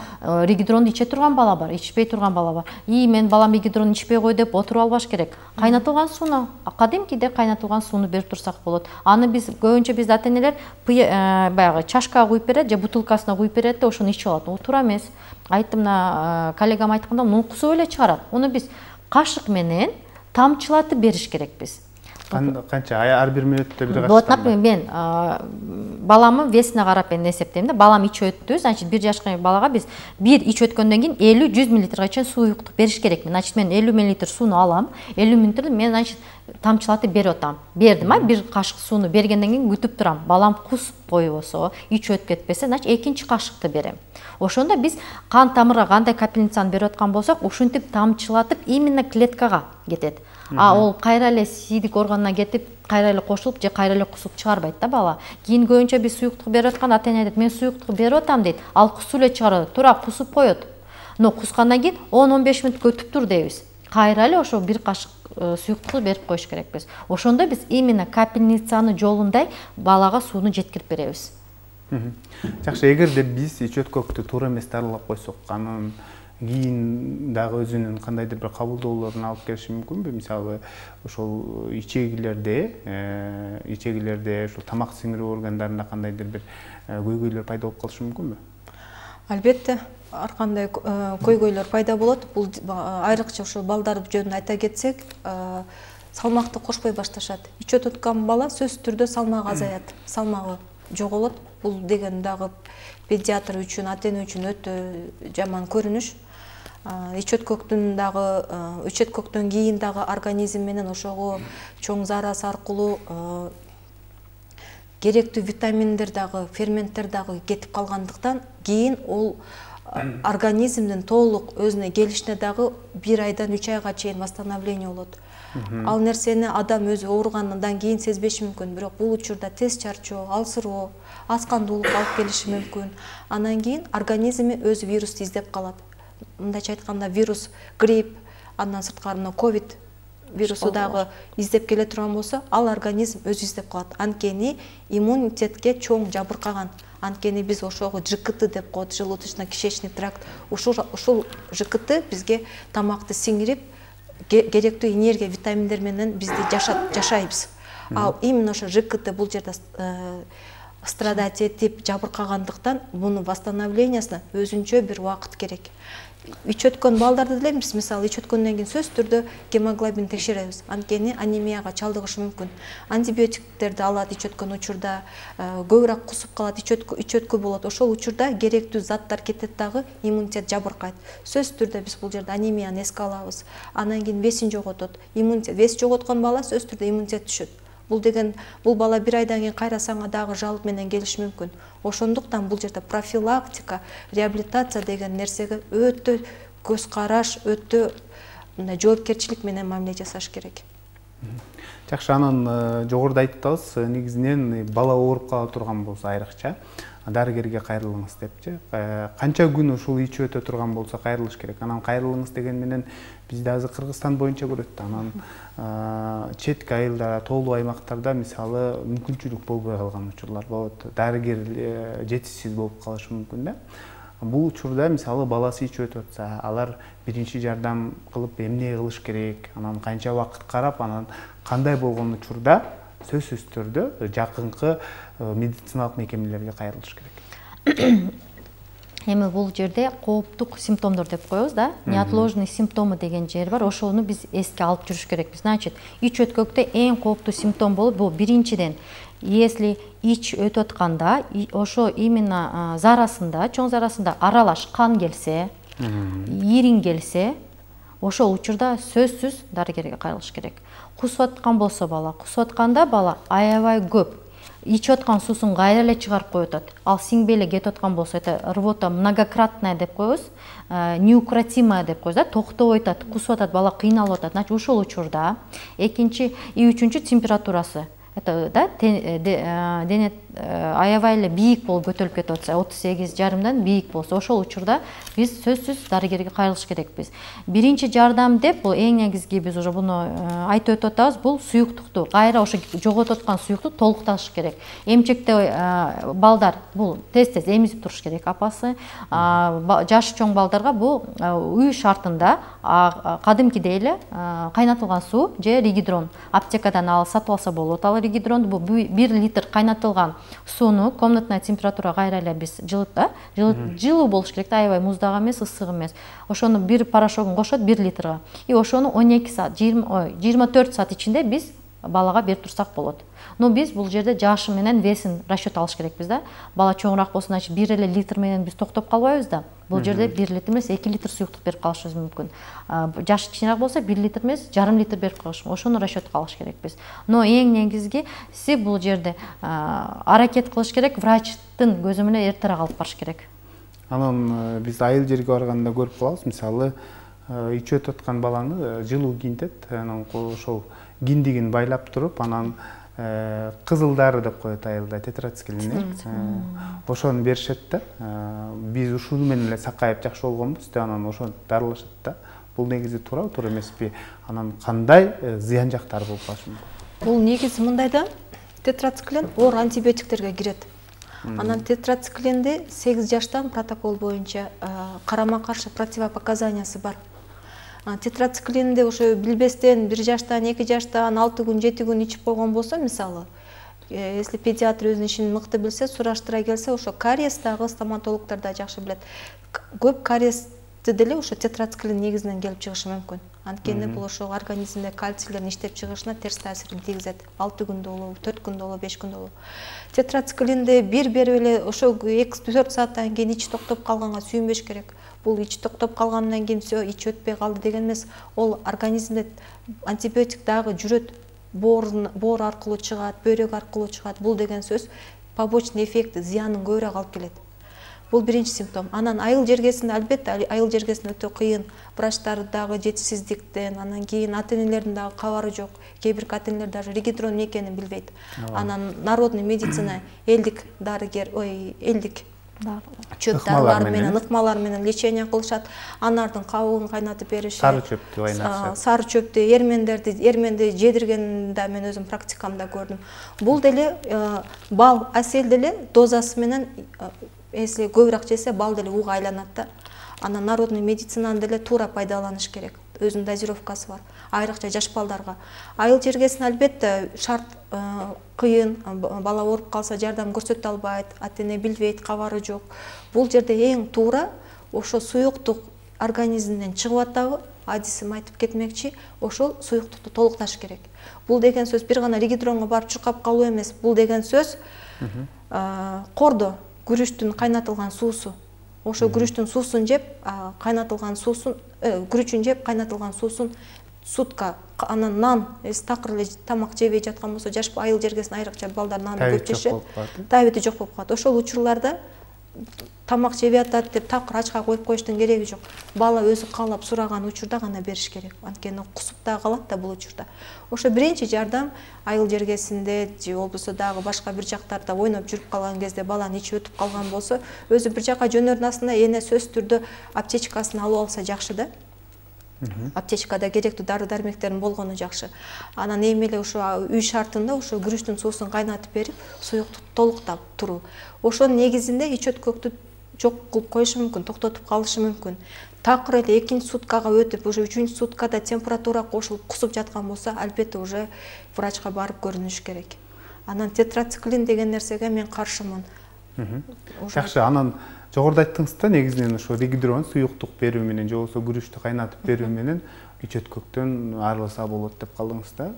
ригидронду иче турган бала бар, ичпей турган бала бар. Мен балам ригидрон ичпей кой деп отуруп албаш керек. Кайнатылган сууну, кадимкиде кайнатылган сууну берип турсак болот. Аны биз көбүнчө биз ата-энелер баягы чашкага куюп берет же бутылкасына куюп берет да ошону ичип алат. Ол туура эмес. Айттым, мына коллегам айтканда, муну кусуп эле чыгарат. Уну биз кашык менен тамчылатып бериш керекпиз.
Канча ар бир мүнөттө бир кашык?
Вот, например, мен баламын весине карап мен эсептейм да. Балам ичип өттү, значит 1 жашка балага биз бир ичип өткөндөн кийин 50-100 мл чейин суюктук бериш керекмин. Значит мен 50 мл сууну алам. 50 мл мен значит тамчылатып берип атам. Бердим, бир кашык сууну бергенден кийин күтүп турам. Балам кусуп койбосо, ичип өтүп кетпесе, значит экинчи кашыкты берем. Ошондо биз кан тамырга кандай капельницаны берип аткан болсок, ушинтип тамчылатып именно клеткага кетет. Ол кайра эле сийдик органына кетип, кайра эле кошулуп же кайра эле кусуп чыгарбайт да бала. Кийин көбүнчө биз суюктук берип атканда ата-эне айтат, мен суюктук берип атам дейт. Ал кусуп эле чыгарат, туура кусуп коет. Но кускандан кийин 10-15 мүнөт күтүп тур дейбиз. Кайра эле ошо бир кашык суюктукту берип коюш керекпиз. Ошондо биз именно капельницаны жолундай балага сууну жеткирип беребиз.
Жакшы, эгерде биз ичөткөктү туура эмес дарылап койсок, анын кийин дагы өзүнүн кандайдыр бир кабылдоолорун алып келиши мүмкүнбү? Мисалы, ошол ичегилерде ошол тамак сиңирүү органдарында кандайдыр бир көйгөйлөр пайда болуп калышы мүмкүнбү?
Албетте, ар кандай көйгөйлөр пайда болот. Бул айрыкча ошол балдар жөнүндө айта кетсек, салмакты кошпой башташат. Ичип өткөн бала сөзсүз түрдө салмагы азаят, салмагы жоголот. Бул деген дагы педиатр үчүн, ата-эне үчүн өтө жаман көрүнүш. Ичөткөктөн кийин дагы организм менен ошого чоң зарасы аркылуу керектүү витаминдер дагы, ферменттер дагы кетип калгандыктан кийин ол организмдин толук өзүнө келишине дагы 1 айдан 3 айга чейин восстановление болот. Ал нерсени адам өзү ооругандан кийин сезбеши мүмкүн, бирок бул учурда тез чарчоо, алсыроо, аскандуулук алып келиши мүмкүн. Андан кийин организми өзү вирусту издеп калат. Мындайча айтканда вирус, грипп, андан сырткары ковид вирусу дагы издеп келе турган болсо, ал организм өзү издеп калат. Анткени иммунитетке чоң жабыркаган. Анткени биз ошого ЖКТ деп коет, желудочно-кишечный тракт. Ушул ЖКТ бизге тамакты сиңирип, керектүү энергия, витаминдер менен бизди жашайбыз. Ал именно ошо ЖКТ бул жерде страдать этип жабыркагандыктан мунун восстановлениясына өзүнчө бир убакыт керек. Ичип өткөн балдарды деле биз мисалы ичип өткөндөн кийин сөзсүз түрдө гемоглобин текшеребиз. Анткени анемияга чалдыгышы мүмкүн. Антибиотиктерди алат ичип өткөн учурда, көбүрөөк кусуп калат, ичөткү болот. Ошол учурда керектүү заттар кетет дагы, иммунитет жабыркайт. Сөзсүз түрдө биз бул жерде анемияны эске алабыз. Андан кийин весин жоготот. Иммунитет, вес жоготкон бала сөзсүз түрдө иммунитет түшөт. Бул бала 1 айдан кийин кайра саңа дагы жалып менен келиши мүмкүн. Ошондуктан бул жерде профилактика, реабилитация деген нерсеге өтө көз караш, өтө жоопкерчилик менен мамиле жасаш керек.
Жакшы, анан жогоруда айттыңыз, негизинен бала ооруп кала турган болсо айрыкча дарыгерге кайрылыңыз депчи. Канча күн ушул ичип өтө турган болсо кайрылыш керек? Анан кайрылыңыз деген менен бизде азыр Кыргызстан боюнча көрөт. Анан четки айылда, тоолуу аймактарда мисалы мүмкүнчүлүк болбой калган учурлар болот. Дарыгер жетишсиз болуп калышы мүмкүн да. Бул учурда мисалы баласы ичип өтүп атса, алар биринчи жардам кылып эмне кылыш керек? Анан канча убакыт карап, анан кандай болгон учурда сөзсүз түрдө жакынкы медициналык мекемелерге кайрылыш керек?
Эми бул жерде кооптук симптомдор деп коебуз да. Неотложный симптомы деген жер бар. Ошону биз эске алып жүрүш керекпиз. Значит, ич өткөктө эң кооптуу симптом болуп, бул биринчиден, если ич өтүп атканда, ошо именно зарасында, чоң зарасында аралаш кан келсе, ирин келсе, ошол учурда сөзсүз дарыгерге кайрылыш керек. Кусуп аткан болсо бала, кусуп атканда бала аябай көп ичип аткан суусун кайра эле чыгарып коюп атат. Ал сиңбей эле кетип аткан болсо, это рвота многократная деп коебуз, неукротимая деп коебуз да, токтобой атат, кусуп атат, бала кыйналып атат. Значит, ошол учурда экинчи и үчүнчү температурасы, это да, дене аябай эле бийик болуп көтөрүлүп кетип атса, 38,5 бийик болсо, ошол учурда биз сөзсүз дарыгерге кайрылыш керекпиз. Биринчи жардам деп, бул эң негизги биз уже буну айтып өтүп атабыз, бул суюктукту, кайра ошо жоготуп аткан суюкту толукташ керек. Эмчекте балдар бул тез-тез эмизип туруш керек апасы. Жашы чоң балдарга бул үй шартында кадимкидей эле кайнатылган суу же ригидрон аптекадан сатып алса болот. Ал ригидронду бул 1 литр кайнатылган сууну комнатная температура кайра эле биз жылуу болуш керек, аябай муздак эмес, ысык эмес. Ошону бир порошогун кошот 1 литрга. И ошону 12 саат, 24 саат ичинде биз балага берип турсак болот. Но биз бул жерде жашы менен весин расчет алыш керекпиз да. Бала чоңураак болсун, значит 1 эле литр менен биз токтоп калбайбыз да. Бул жерде 1 литр эмес 2 литр суюктук берип калышыбыз мүмкүн. Жашы кичинераак болсо 1 литр эмес жарым литр берип калыш. Ошону расчетко алыш керекпиз. Но эң негизгиси бул жерде аракет кылыш керек, врачтын көзү менен эртерээк алып барыш керек.
Анан биз айыл жерге барганда көрүп калабыз, мисалы ичип аткан баланы жылуу кийинтет, анан ошол киндигин байлап туруп, анан кызылдары деп коет айылда, тетрациклин. Ошону беришет да. Биз ушуну менен эле сакайып жакшы болгонбуз деп анан ошону дарылашат да. Бул негизи туура эмеспи? Анан кандай зыян жактары болуп калышы мүмкүн?
Бул негизи мындай да, тетрациклин оор антибиотиктерге кирет. Анан тетрациклинди 8 жаштан протокол боюнча карама каршы противопоказаниясы бар. Тетрациклинди ошо билбестен 1 жаштан, 2 жаштан 6 күн, 7 күн ичип койгон болсо, мисалы, если педиатр өзүнүн ишин мыкты билсе, сураштыра келсе, ошо кариестагы стоматологдор да жакшы билет. Көп кариести деле ошо тетрациклин негизинен келип чыгышы мүмкүн. Анткени бул ошо организмде кальцийлердин иштеп чыгышына терс таасирин тийгизет. 6 күндө болобу, 4 күндө болобу, 5 күндө болобу. Тетрациклинди бир берип эле ошо 2-4 сааттан кийин ичи токтоп калганга сүйүнбөш керек. Бул ичи токтоп калгандан кийин всё, ичи өтпөй калды деген эмес. Ол организмде антибиотик дагы жүрөт, боор аркылуу чыгат, бөйрөк аркылуу чыгат. Бул деген сөз побочный эффекти, зыянын көбүрөөк алып келет. Бул биринчи симптом. Анан айыл жергесинде, албетте, айыл жергесинде өтө кыйын. Врачтар дагы жетишсиздиктен, анан кийин ата-энелердин дагы кабары жок. Кээ бир ата-энелер даже регидрон эмне экенин билбейт. Анан народный медицина, элдик дарыгер, элдик чөп дарылар менен, ыкмалар менен лечение кылышат. Анардын кабыгын кайнатып беришет.
Сары чөптү кайнатышат.
Сары чөптү, эрменди жедиргенде мен өзүм практикамда көрдүм. Бул деле бал асел деле дозасы менен, если көбүрөөк жесе, бал деле уга айланат да. Анан народный медицинаны деле туура пайдаланыш керек. Өзүнүн дозировкасы бар. Айрыкча жаш балдарга. Айыл жергесинде албетте шарт кыйын, бала ооруп калса жардам көрсөтө албайт, ата-эне билбейт, кабары жок. Бул жерде эң туура ошо суюктук организмден чыгып атабы, адисим айтып кетмекчи, ошол суюктукту толукташ керек. Бул деген сөз бир гана регидронго барып чуркап калуу эмес. Бул деген сөз кордо, күрүчтүн кайнатылган суусу. Ошо күрүчтүн суусун жеп, кайнатылган суусун, күрүчүн жеп, кайнатылган суусун сутка, анан нан, такыр эле тамак жебей жаткан болсо, жаш айыл жергесинде айрыкча балдар нанды көп жешет, табити жок болуп калат. Ошол учурларда тамак жебей атат деп такыр ачка коюп коюштун кереги жок. Бала өзү каалап сураган учурда гана бериш керек. Анткени кусуп да калат да бул учурда. Ошо биринчи жардам айыл жергесинде же болбосо дагы башка бир жактарда ойноп жүрүп калган кезде баланы ичи өтүп калган болсо, өзү бир жака жөнөрүнүн астында эне сөзсүз түрдө аптечкасын алып алса жакшы да. Аптечкада керектүү дары-дармектердин болгону жакшы. Анан эми эле ошо үй шартында ошо күрүчтүн суусун кайнатып берип, суюкту толуктап туруу. Ошонун негизинде ич өткөктү жок кылып коюшу мүмкүн, токтотуп калышы мүмкүн. Такыр эле 2-нчи суткага өтүп, уже 3-нчү суткада температура кошулуп кусуп жаткан болсо, албетте уже врачка барып көрүнүш керек. Анан тетрациклин деген нерсеге мен каршымын.
Жакшы, анан жогоруда айттыңыз да, негизинен ошо регидрон суюктук берүү менен же болбосо күрүчтү кайнатып берүү менен ич өткөктөн арылса болот деп калдыңыз да.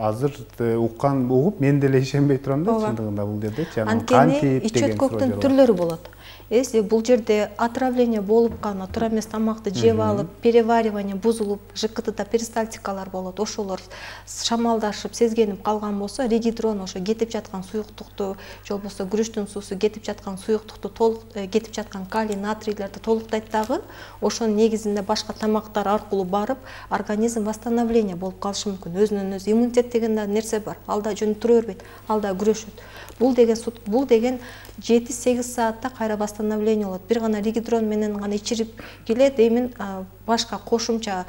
Азыр угуп мен деле ишенбей турам да, чындыгында бул жердечи.
Анткени ич өткөктүн түрлөрү болот. Если бул жерде отравление болуп калган, туура эмес тамакты жеп алып, переваривание бузулуп, ЖКТда перистальтикалар болот. Ошолор шамалдашып, сезгенип калган болсо, регидрон ошо кетип жаткан суюктукту, же болбосо күрүчтүн суусу кетип жаткан суюктукту кетип жаткан калий, натрийлерди толуктайт дагы. Ошонун негизинде башка тамактар аркылуу барып, организм восстановление болуп калышы мүмкүн. Өзүнөн өзү иммунитет деген нерсе бар. Ал да жөн тура бербейт, ал да күрөшөт. Бул деген 7-8 саатта кайра восстановление болот. Бир гана регидрон менен гана ичирип келет, эми башка кошумча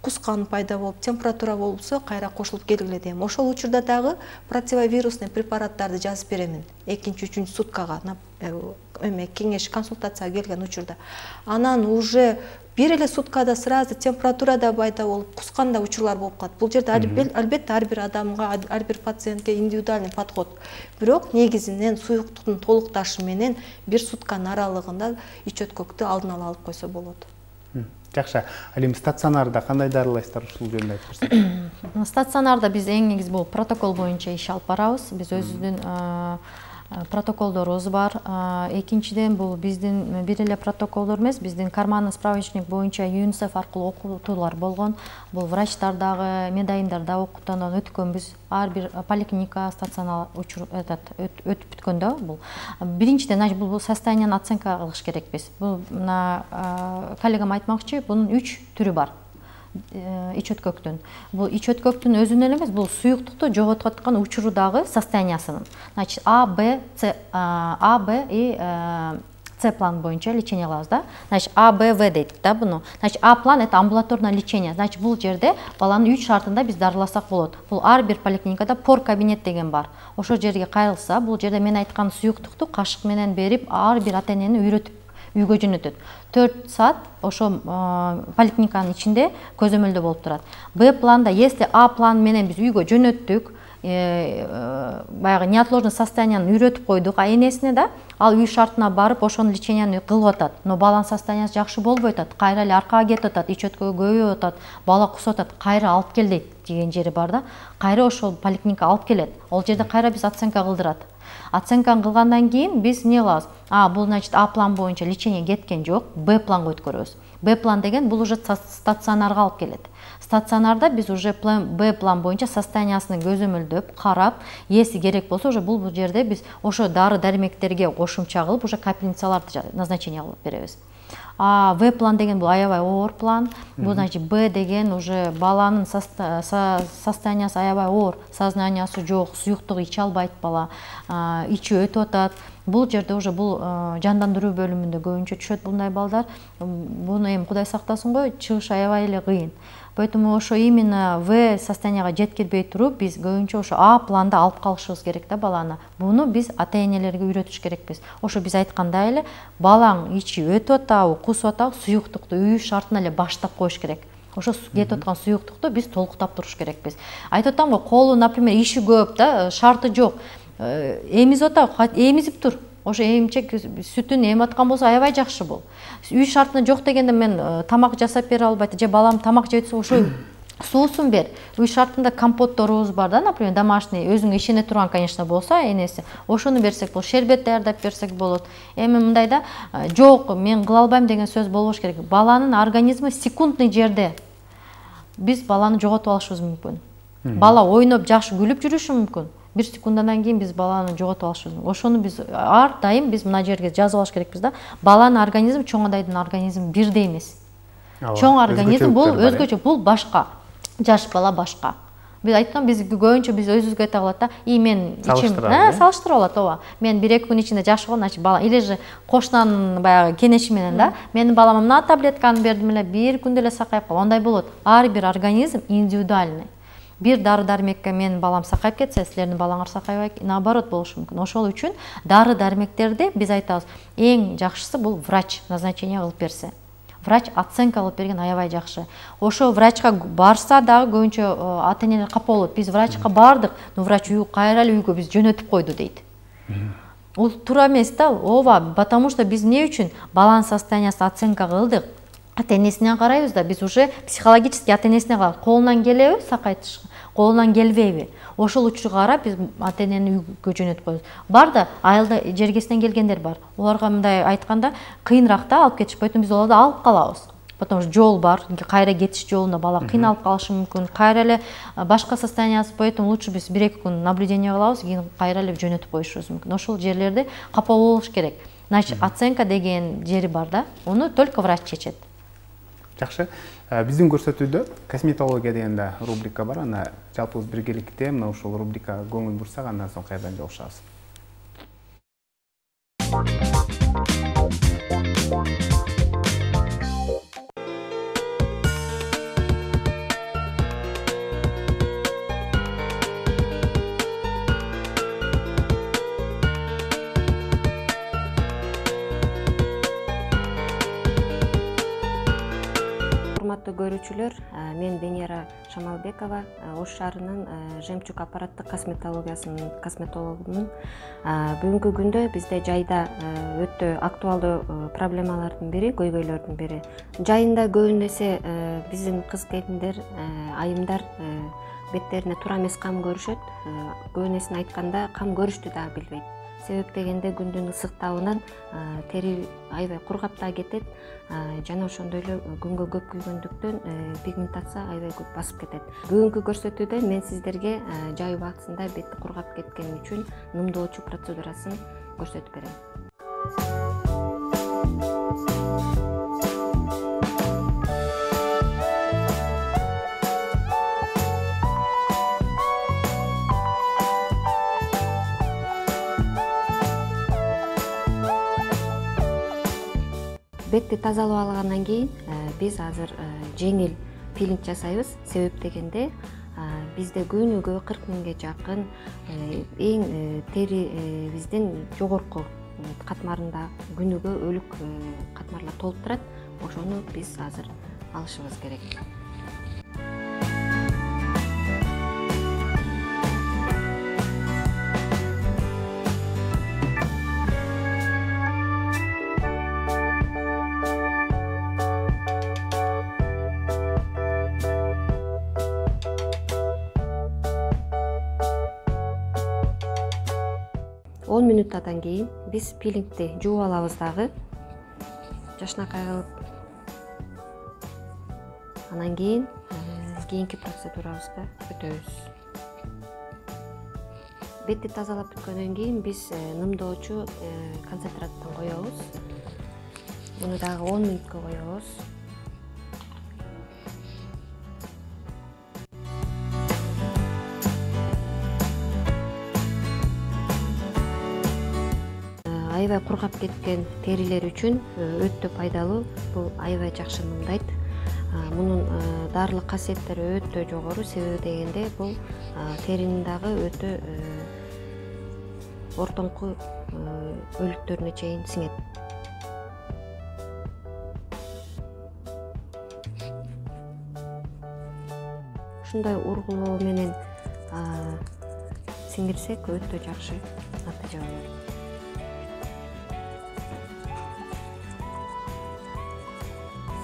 кускан пайда болуп, температура болсо кайра кошулуп келгиле дейм. Ошол учурда дагы противовирусный препараттарды жазып беремин. 2-3 суткага кеңеш консультацияга келген учурда. Анан уже бир эле суткада сразу температурада пайда болуп, кусканда учурлар болуп калат. Бул жерде албетте ар бир адамга, ар бир пациентке индивидуальный подход. Бирок негизинен суюктуктун толукташы менен бир сутканын аралыгында ич өткөктү алдын ала алып койсо болот.
Жакшы. Ал эми стационарда кандай дарылайсыздар, ушул жөнүндө айтып берсеңиз.
Стационарда биз эң негизи бул протокол боюнча иш алып барабыз. Биз өзүбүздүн протоколдорубуз бар. Экинчиден бул биздин бир эле протоколдор эмес, биздин карманный справочник боюнча ЮНИСЕФ аркылуу окутуулар болгон. Бул врачтар дагы, медайымдар дагы окутуудан өткөнбүз. Ар бир поликлиника, стационар өтүп бүткөндө бул биринчиден бул состоянияны оценка кылыш керекпиз. Бул коллегам айтмакчы, бунун 3 түрү бар. Ич өткөктүн. Бул ич өткөктүн өзүнөн эле эмес, бул суюктукту жоготуп аткан учурудагы состояниясынын. Значит, А, Б и С план боюнча лечение кылабыз да. Значит, А, Б, В дейт да буну. Значит, А план это амбулаторное лечение. Значит, бул жерде баланы 3 шартында биз дарыласак болот. Бул ар бир поликлиникада пор кабинет деген бар. Ошол жерге кайрылса, бул жерде мен айткан суюктукту кашык менен берип, ар бир ата-энени үйрөтүп үйгө жөнөтөт. 4 саат ошо поликлиниканын ичинде көзөмөлдө болуп турат. Б планда, если А план менен биз үйгө жөнөттүк, баягы неотложный состоянияны үйрөтүп койдук энесине да, ал үй шартына барып ошонун леченияны кылып атат. Но баланын состояниясы жакшы болбой атат, кайра эле аркага кетип атат, ич өткөгө көбөйүп атат, бала кусуп атат, кайра алып кел дейт деген жери бар да. Кайра ошол поликлиника алып келет. Ол жерде кайра биз оценка кылдырат. Оценканы кылгандан кийин биз эмне кылабыз? Бул значит А план боюнча лечение кеткен жок, Б планга өткөрөбүз. Б план деген бул уже стационарга алып келет. Стационарда биз уже Б план боюнча состояниясын көзөмөлдөп, карап, если керек болсо уже бул жерде биз ошо дары дармектерге кошумча кылып, уже капельницаларды назначение кылып беребиз. В план деген бул аябай оор план. Бул значит Б деген уже баланын состояниясы аябай оор, сознаниясы жок, суюктук иче албайт бала, ичи өтүп атат. Бул жерде уже бул жандандыруу бөлүмүндө көбүнчө түшөт булдай балдар. Буну эми Кудай сактасын го, чыгыш аябай эле кыйын. Поэтому ошо именно В состоянияга жеткирбей туруп, биз көбүнчө ошо А планда алып калышыбыз керек да баланы. Буну биз ата-энелерге үйрөтүш керекпиз. Ошо биз айткандай эле, балаң ичи өтүп атабы, кусуп атабы, суюктукту үй шартына эле баштап коюш керек. Ошо кетип аткан суюктукту биз толуктап туруш керекпиз. Айтып атам го, колу, например, иши көп да, шарты жок. Эмизип атабы, эмизип тур. Ошо эмчек сүтүн эми аткан болсо аябай жакшы бул. Үй шартына жок дегенде мен тамак жасап бере албайт, же балам тамак жеп атса ошо суусун бер. Үй шартында компотторубуз бар да, например, домашний, өзүңө ишене турган, конечно, болсо энеси. Ошону берсек болот, шербет даярдап берсек болот. Эми мындай да, жок, мен кыла албайм деген сөз болбош керек. Баланын организми секундный жерде биз баланы жоготуп алышыбыз мүмкүн. Бала ойноп, жакшы күлүп жүрүшү мүмкүн. 1 секундадан кийин биз баланы жоготуп алышыбыз мүмкүн. Ошону биз ар дайым биз мына жерге жазып алыш керекпиз да. Баланын организми чоң адайдын организми бирдей эмес. Чоң организм бул өзгөчө, бул башка. Жаш бала башка. Биз айткан, биз көбүнчө биз өзүбүзгө айта калат да, мен ичим, салыштырып алат, ооба. Мен 1-2 күн ичинде жакшы болгон, значит бала или же кошунанын баягы кенеши менен да, менин балама мына таблетканы бердим эле, 1 күндө эле сакайып калды. Ондай болот. Ар бир организм индивидуальный. Бир дары дармекке менин балам сакайып кетсе, силердин балаңар сакайбайт, наоборот болушу мүмкүн. Ошол үчүн дары дармектерди биз айтабыз, эң жакшысы бул врач назначение кылып берсе. Врач оценка кылып берген аябай жакшы. Ошо врачка барса дагы көбүнчө ата-энелер капа болот. Биз врачка бардык, но врач кайра эле үйгө биз жөнөтүп койду дейт. Бул туура эмес да, ооба, потому что биз эмне үчүн баланын состояниясын оценка кылдык. Ата-энесине карайбыз да, биз уже психологически ата-энесине карап, колунан келеби сакайтыш, колунан келбейби. Ошол учурга карап биз ата-энени үйгө жөнөтүп коебуз. Бар да, айылда жергесинен келгендер бар. Оларга мындай айтканда кыйыныраак да алып кетиш, поэтому биз оларды алып калабыз. Потому что жол бар, кайра кетиш жолунда бала кыйналып калышы мүмкүн, кайра эле башка состояниясы, поэтому лучше биз 1-2 күн наблюдение кылабыз, кийин кайра эле жөнөтүп коюшубуз мүмкүн. Ошол жерлерде капа болуш керек. Значит, оценка деген жери бар да, аны только врач чечет.
Жакшы. Биздин көрсөтүүдө косметология деген да рубрика бар. Аны жалпыбыз биргеликте мына ушул рубрикага көңүл бурсак, андан соң кайрадан жолугушабыз.
урматтуу көрүүчүлөр, мен Денияра Шамалбекова, Ош шаарынын Жемчуг аппараттык косметологиясынын косметологумун. Бүгүнкү күндө бизде жайда өтө актуалдуу проблемалардын бири, көйгөйлөрдүн бири. Жайында көбүн эсе биздин кыз-келиндер, айымдар беттерине туура эмес кам көрүшөт. Көбүнесин айтканда кам көрүштү да билбейт. Себеп дегенде күндүн ысыктабынан тери аябай кургап да кетет. Жана ошондой эле күнгө көп күйгөндүктөн пигментация аябай көп басып кетет. Бүгүнкү көрсөтүүдө мен сиздерге жай убактысында бетти кургап кеткен үчүн нымдоочу процедурасын көрсөтүп берем. Бетти тазалап алгандан кийин биз азыр жеңил пилинг жасайбыз. Себеп дегенде бизде күнүгө 40 миңге жакын эң тери биздин жогорку катмарында күнүгө өлүк катмарлар толуп турат. Ошону биз азыр алышыбыз керек. Он минуттан кийин биз пилингди жууп алабыз дагы. Жашынакай кылып. Анан кийин кийинки процедурабызга өтөбүз. Бетти тазалап бүткөндөн кийин биз нымдоочу концентраттан коебуз. Муну дагы 10 минутка коебуз. Аябай кургап кеткен терилер үчүн өтө пайдалуу. Бул аябай жакшы нымдайт. Мунун дарылык касиеттери өтө жогору. Себеби дегенде бул теринин дагы өтө ортоңку өлүктөрүнө чейин сиңет. Ушундай ургулоо менен сиңирсек өтө жакшы натыйжа болот.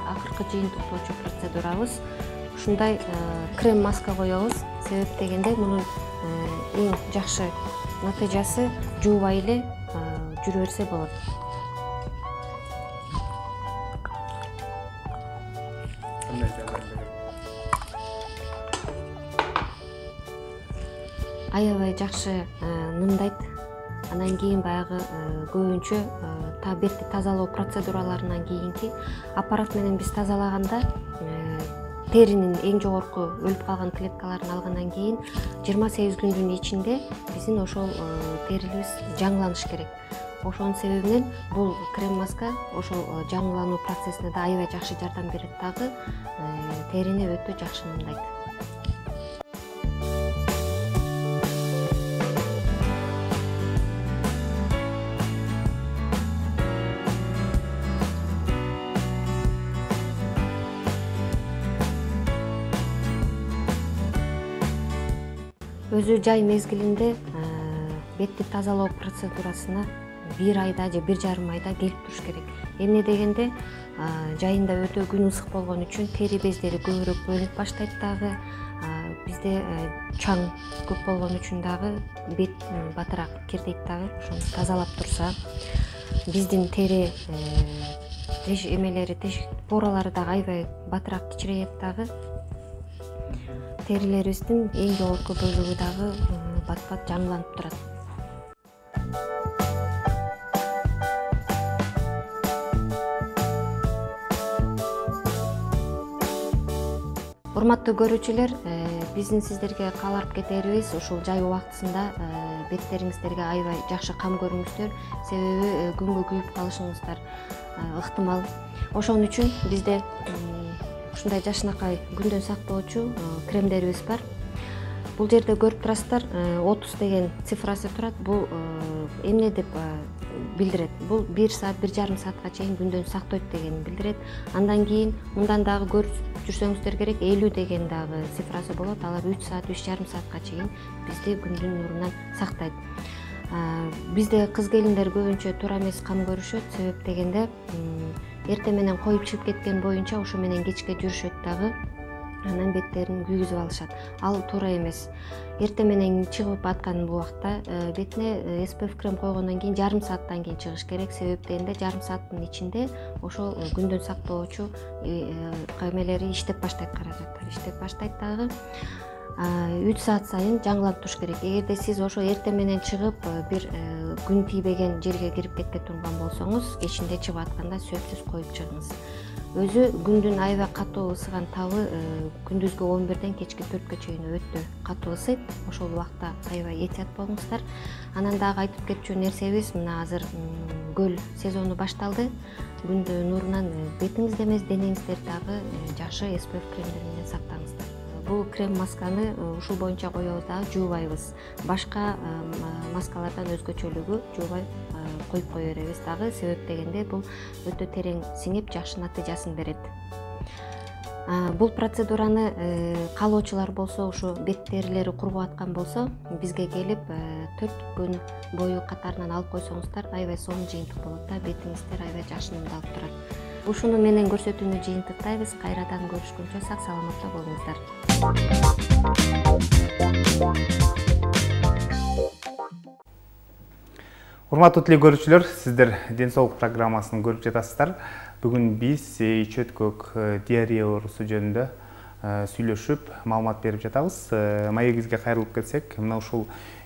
Акыркы жыйынтыктоочу процедурабыз ушундай крем маска коебуз. Себеп дегенде мунун эң жакшы натыйжасы жуубай эле жүрө берсе болот. Аябай жакшы нымдайт. Анан кийин баягы көбүнчө бетти тазалоо процедураларынан кийинки аппарат менен биз тазалаганда теринин эң жогорку өлүп калган клеткаларын алгандан кийин 28 күндүн ичинде биздин ошол терибиз жаңыланыш керек. Ошонун себебинен бул крем маска ошол жаңылануу процессине да аябай жакшы жардам берет дагы, терини өтө жакшы нымдайт. Өзү жай мезгилинде бетти тазалоо процедурасына 1 айда же 1,5 айда келип туруш керек. Эмне дегенде жайында өтө күн ысык болгон үчүн тери бездери көбүрөөк бөлүнүп баштайт дагы. Бизде чаң көп болгон үчүн дагы бет батыраак кирдейт дагы. Ошону тазалап турса, биздин тери эмелери, поралары дагы аябай батыраак кичирейет дагы. Терилерибиздин эң жогорку бөлүгү дагы бат-бат жаңыланып турат. Урматтуу көрүүчүлөр, биздин сиздерге каалап кетерибиз ушул жай убактысында беттериңиздерге аябай жакшы кам көрүңүздөр. Себеби күнгө күйүп калышыңыздар ыктымал. Ошон үчүн бизде ушундай жашынакай күндөн сактоочу кремдерибиз бар. Бул жерде көрүп турасыздар, 30 деген цифрасы турат. Бул эмне деп билдирет? Бул 1 саат, 1,5 саатка чейин күндөн сактойт дегенди билдирет. Андан кийин мындан дагы жүрсөңүздөр керек, 50 деген дагы цифрасы болот. Алар 3 саат, 3,5 саатка чейин бизди күндүн нурунан сактайт. Бизде кыз келиндер көбүнчө туура эмес кам көрүшөт. Себеп дегенде эрте менен коюп чыгып кеткен боюнча ошо менен кечке жүрүшөт дагы. Анан беттерин күйгүзүп алышат. Ал туура эмес. Эрте менен чыгып аткан убакта бетине SPF крем койгондон кийин жарым сааттан кийин чыгыш керек. Себеп дегенде жарым сааттын ичинде ошол күндүн сактоочу кемелери иштеп баштайт, каражаттар иштеп баштайт дагы. 3 саат сайын жаңыланып туруш керек. Эгерде сиз ошо эрте менен чыгып бир күн тийбеген жерге кирип кетке турган болсоңуз, кечинде чыгып атканда сөзсүз коюп чыгыңыз. Өзү күндүн аябай катуу ысыган табы күндүзгү 11ден кечки 4кө чейин өтө катуу ысыйт. Ошол убакта аябай этият болуңуздар. Анан дагы айтып кетчү нерсебиз, мына азыр көл сезону башталды. Күндүн нурунан бетиңизде эмес, денеңиздер дагы жакшы SPF кремдер менен сактаңыздар. Бул крем масканы ушул боюнча коебуз дагы жуубайбыз. Башка маскалардан өзгөчөлүгү жуубай коюп кое беребиз дагы. Себеп дегенде бул өтө терең сиңип жакшы натыйжасын берет. Бул процедураны каалоочулар болсо, ушу бет терилери кургуп аткан болсо, бизге келип 4 күн бою катарынан алып койсоңуздар, аябай сонун жыйынтык болот да, бетиңиздер аябай жакшы нурдалып турат. Ушуну менен көрсөтүүнү жыйынтыктайбыз. Кайрадан көрүшкөнчө сак саламатта болуңуздар.
Урматтуу теле көрүүчүлөр, сиздер ден соолук программасын көрүп жатасыздар. Бүгүн биз ичөткөк диарея оорусу жөнүндө сүйлөшүп, маалымат берип жатабыз. Маегибизге кайрылып кетсек, мына ушул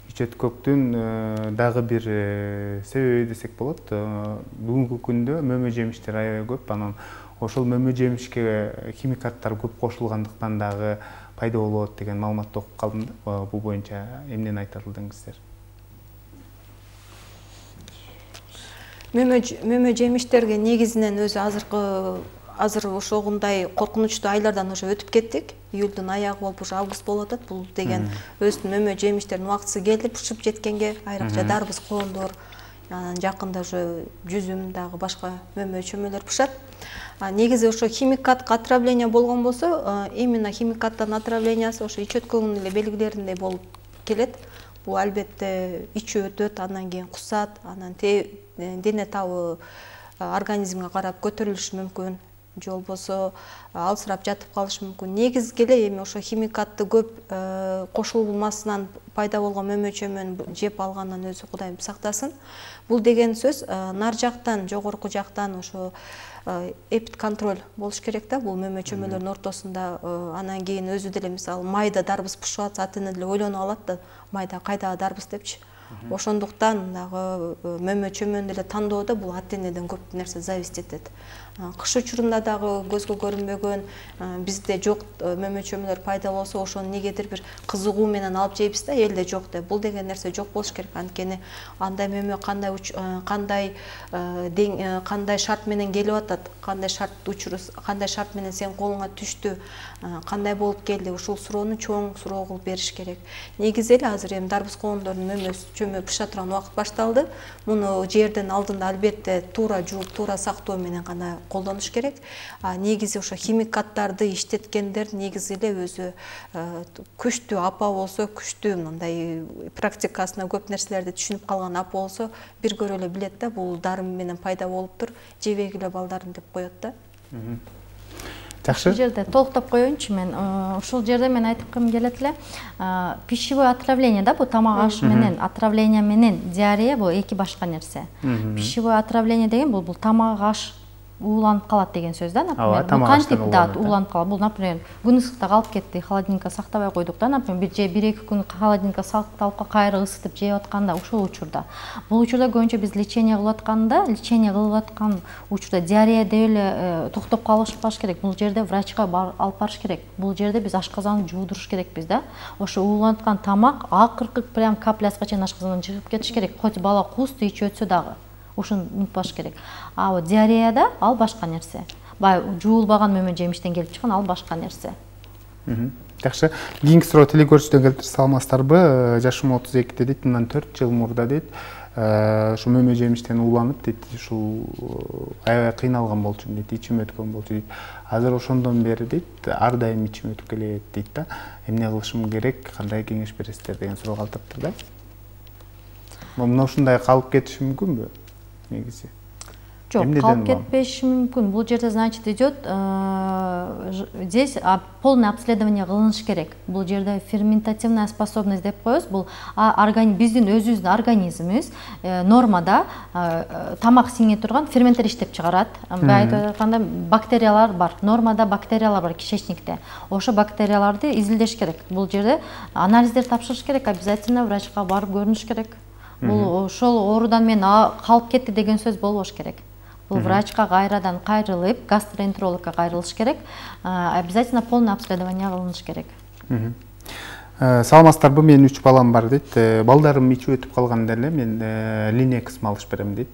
ичөткөктүн дагы бир себеби десек болот. Бүгүнкү күндө мөмө жемиштер аябай көп, анан ошол мөмө жемишке химикаттар көп кошулгандыктан дагы пайда болот деген маалыматты окуп калдым да. Бул боюнча эмнени айта алдыңыздар?
Мөмө жемиштерге негизинен өзү азыр ошогундай коркунучтуу айлардан уже өтүп кеттик. Июлдун аягы болуп, уже август болуп атат. Бул деген өзүнүн мөмө жемиштердин убактысы келди, пышып жеткенге, айрыкча дарбыз, коомдор, анан жакында уже жүзүм дагы башка мөмө чөмөлөр пышат. Негизи ошо химикаттык отравление болгон болсо, именно химикаттын отравлениясы ошо ичөткөгүнүн эле белгилериндей болуп келет. Бул албетте ичи өтөт, андан кийин кусат, анан дене табы организмге карап көтөрүлүшү мүмкүн, же болбосо алсырап жатып калышы мүмкүн. Негизги эле эми ошо химикатты көп кошулмасынан пайда болгон мөмө чөмөнү жеп алгандан өзү Кудайым сактасын. Бул деген сөз нар жактан, жогорку жактан ошо эпид контроль болуш керек да, бул мөмө чөмөлөрдүн ортосунда. Анан кийин өзү деле мисалы майда дарбыз пышып атса, ата-эне деле ойлонуп алат да, майда кайдагы дарбыз депчи. Ошондуктан дагы мөмө чөмөнү деле тандоодо бул ата-энеден көп нерсе зависить этет. Кыш учурунда дагы көзгө көрүнбөгөн, бизде жок мөмө чөмөлөр пайда болсо, ошону негедир бир кызыгуу менен алып жейбиз да, элде жок деп. Бул деген нерсе жок болуш керек. Анткени андай мөмө кандай шарт менен келип атат, кандай шарт менен сен колуңа түштү, кандай болуп келди, ушул суроону чоң суроо кылып бериш керек. Негизи эле азыр эми дарбыз коомдордун мөмө чөмө пыша турган убакыт башталды. Муну жээрден алдында албетте туура жууп, туура сактоо менен гана колдонуш керек. Негизи ошо химикаттарды иштеткендер негизи эле өзү күчтүү апа болсо, күчтүү мындай практикасына көп нерселерди түшүнүп калган апа болсо, бир көрө эле билет да, бул дарым менен пайда болуптур, жебегиле балдарым деп коет да.
Жакшы.
Ушул жерде толуктап коеюнчу мен. Ушул жерде мен айткым келет эле, пищевое отравление да, бул тамак аш менен отравление менен диарея бул эки башка нерсе. Пищевое отравление деген бул тамак аш ууланып калат деген сөз да, например. Бул кантип да ууланып калат. Бул, например, күн ысыкта калып кетти, холодильникке сактабай койдук да, например, бир-эки күн холодильникке сакталып кайра ысытып жеп атканда, ошол учурда. Бул учурда көбүнчө биз лечение кылып аткан учурда диарея деп эле токтоп калышпаш керек. Бул жерде врачка алып барыш керек. Бул жерде биз ашказанды жуудуруш керекпиз да. Ошо ууланып аткан тамак акыркы прям каплясына чейин ашказандан чыгып кетиш керек. Хоть бала куусту ичип өтсө дагы. Ушуну унутпаш керек. А диареяда ал башка нерсе. Баягы жуулбаган мөмө жемиштен келип чыккан ал башка нерсе.
Жакшы. Кийинки суроо теле көрүүчүдөн келиптир. Саламатсыздарбы? Жашым 32 дейт, мындан 4 жыл мурда дейт. ушу мөмө жемиштен ууланып дейт, ушул аябай кыйналган болчумун дейт, ичим өткөн болчу дейт. Азыр ошондон бери дейт, ар дайым ичим өтүп келет дейт да. Эмне кылышым керек, кандай кеңеш бересиздер деген суроо калтырыптыр да. Мына ушундай калып кетиши мүмкүнбү негизи?
Жок, калып кетпеши мүмкүн. Бул жерде, значит, идет здесь полное обследование кылыныш керек. Бул жерде ферментативная способность деп коебуз. Бул биздин өзүбүздүн организмибиз нормада тамак сиңе турган ферменттер иштеп чыгарат. Айтып атканда бактериялар бар. Нормада бактериялар бар кишечникте. Ошо бактерияларды изилдеш керек. Бул жерде анализдер тапшырыш керек, обязательно врачка барып көрүнүш керек. Бул ошол оорудан мен калып кетти деген сөз болбош керек. Бул врачка кайрадан кайрылып, гастроэнтерологко кайрылыш керек. Обязательно полное обследование кылыныш керек.
Саламатсыздарбы, менин 3 балам бар дейт. Балдарым ичип өтүп калганда эле мен Линекс малыш берем дейт.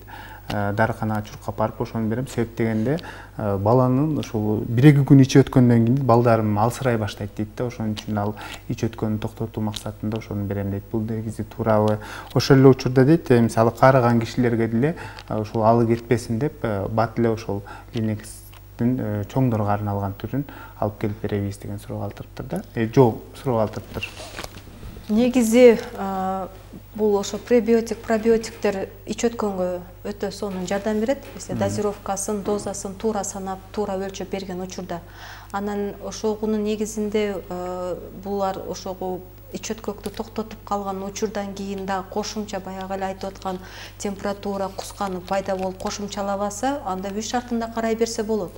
Дарыканага чуркап барып ошону берем. Себеп дегенде баланын ушул 1-2 күн ичип өткөндөн кийин балдарым алсырай баштайт дейт да. Ошон үчүн ал ичип өткөнүн токтотуу максатында ошону берем дейт. Бул негизи туурабы? Ошол эле учурда дейт, мисалы каарыган кишилерге деле ушул алы кетпесин деп бат эле ошол Линекстин чоңдорго арналган түрүн алып келип беребиз деген суроо калтырыптыр да. Жок, суроо калтырыптыр.
Негизи бул ошо пребиотик, пробиотиктер ич өткөнгө өтө сонун жардам берет. Дозировкасын, дозасын туура санап, туура өлчөп берген учурда. Анан ошогунун негизинде булар ошого ич өткөктү токтотуп калган учурдан кийин да кошумча баягы эле айтып аткан температура кусканы пайда болуп кошумчалабаса, анда үй шартында карай берсе болот.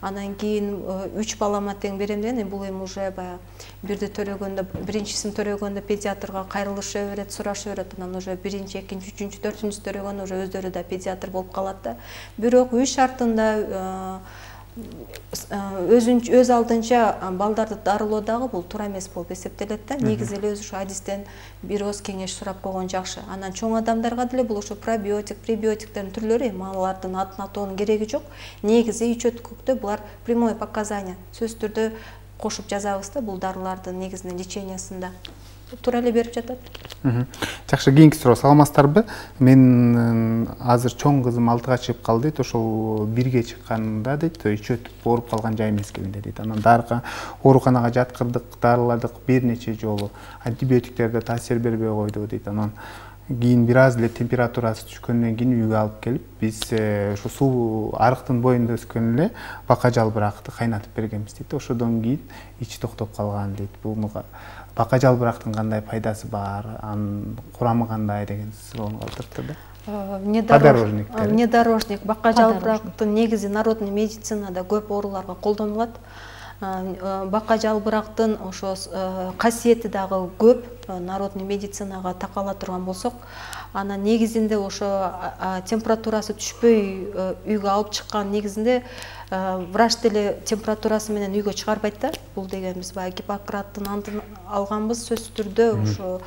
Анан кийин 3 балама тең берем деген, бул эми уже баягы бирди төрөгөндө, биринчисин төрөгөндө педиатрга кайрылыша берет, сураша берет. Анан уже 1-2, 3-4 төрөгөндө уже өздөрү да педиатр болуп калат да. Бирок үй шартында өз алдынча балдарды дарылоо дагы бул туура эмес болуп эсептелет да. Негизи эле өзү ушу адистен бир оз кеңеш сурап койгон жакшы. Анан чоң адамдарга деле бул ошо пробиотик, пребиотиктердин түрлөрү, алардын атын атоонун кереги жок. Негизи ич өткөктө булар прямое показание, сөзсүз түрдө кошуп жазабыз да, бул дарылардын негизинен лечениясында. Туура эле берип жатат.
Жакшы, кийинки суроо. Саламатсыздарбы? Мен азыр чоң кызым 6-га чыгып калды дейт. Ошол 1-ге чыкканда дейт, ич өтүп ооруп калган жай мезгилинде дейт. Анан ооруканага жаткырдык, дарыладык бир нече жолу. Антибиотиктер да таасир бербей койду дейт. Анан кийин бир аз эле температурасы түшкөндөн кийин үйгө алып келип, биз ушу суу арыктын боюнда өскөн эле бака жалбыракты кайнатып бергенбиз дейт. Ошодон кийин ичи токтоп калган дейт. Бул бака жалбырактын кандай пайдасы бар, анын курамы кандай деген суроону калтырыптыр да.
Внедорожник бака жалбырактын негизи народный медицинада көп ооруларга колдонулат. Бака жалбырактын ошо касиети дагы көп, народный медицинага такала турган болсок, анан негизинде ошо температурасы түшпөй үйгө алып чыккан негизинде врач деле температурасы менен үйгө чыгарбайт да. Бул дегенибиз баягы Гиппократтын антын алганбыз, сөзсүз түрдө ошо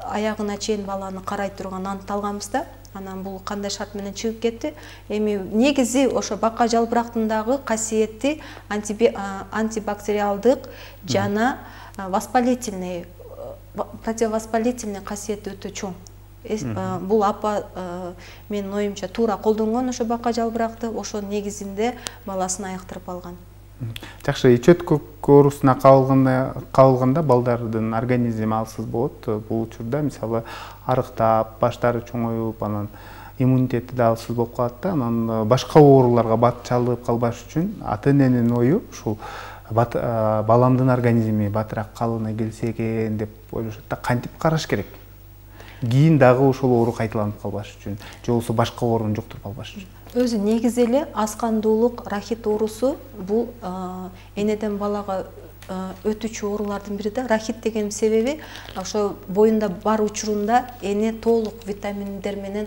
аягына чейин баланы карай турган антты алганбыз да. Анан бул кандай шарт менен чыгып кетти? Эми негизи ошо бака жалбырактын дагы касиети антибактериалдык жана воспалительный, противовоспалительный касиети өтө чоң. Бул апа менин оюмча туура колдонгон ошо бака жалбыракты, ошо негизинде баласын айыктырып алган.
Жакшы, ич өткөк оорусуна кабылганда балдардын организми алсыз болот. Бул учурда мисалы арыктап, баштары чоңоюп, анан иммунитети да алсыз болуп калат да. Анан башка ооруларга бат чалып калбаш үчүн ата-эненин ою ушул баламдын организми батыраак калыбына келсе экен деп ойлошот да. Кантип караш керек? Кийин дагы ошол оору кайталанып калбаш үчүн, же болбосо башка ооруну жуктуруп албаш үчүн.
Өзү негизи эле аскандуулук, рахит оорусу бул энеден балага өтүүчү оорулардын бири да. Рахит деген себеби ошо боюнда бар учурунда эне толук витаминдер менен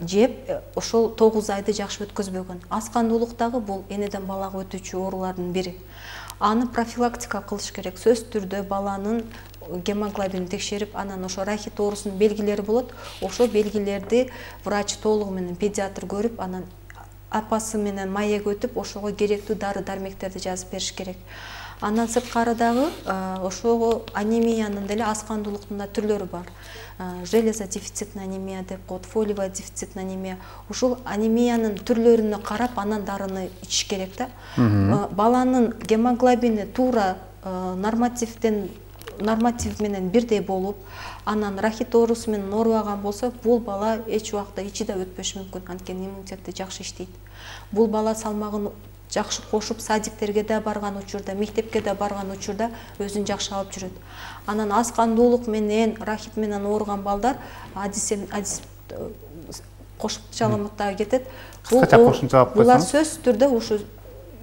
жеп, ошол 9 айды жакшы өткөзбөгөн. Аскандуулук дагы бул энеден балага өтүүчү оорулардын бири. Аны профилактика кылыш керек. Сөзсүз түрдө баланын гемоглобинин текшерип, анан ошо рахит оорусунун белгилери болот. Ошо белгилерди врач толугу менен педиатр көрүп, анан апасы менен маек өтүп ошого керектүү дары дармектерди жазып бериш керек. Андан сырткары дагы ошого анемиянын деле аскандуулуктун да түрлөрү бар. Железодефицитный анемия деп коет, фолиевая дефицитный анемия. Ушул анемиянын түрлөрүнө карап анан дарыны ичиш керек да. Баланын гемоглобини туура норматив менен бирдей болуп, анан рахит оорусу менен оорубаган болсо, бул бала эч убакта ичи да өтпөшү мүмкүн, анткени иммунитети жакшы иштейт. Бул бала салмагын жакшы кошуп, садиктерге да барган учурда, мектепке да барган учурда өзүн жакшы алып жүрөт. Анан аскандуулук менен, рахит менен ооруган балдар кошумчалап дагы кетет. Булар сөзсүз түрдө ушу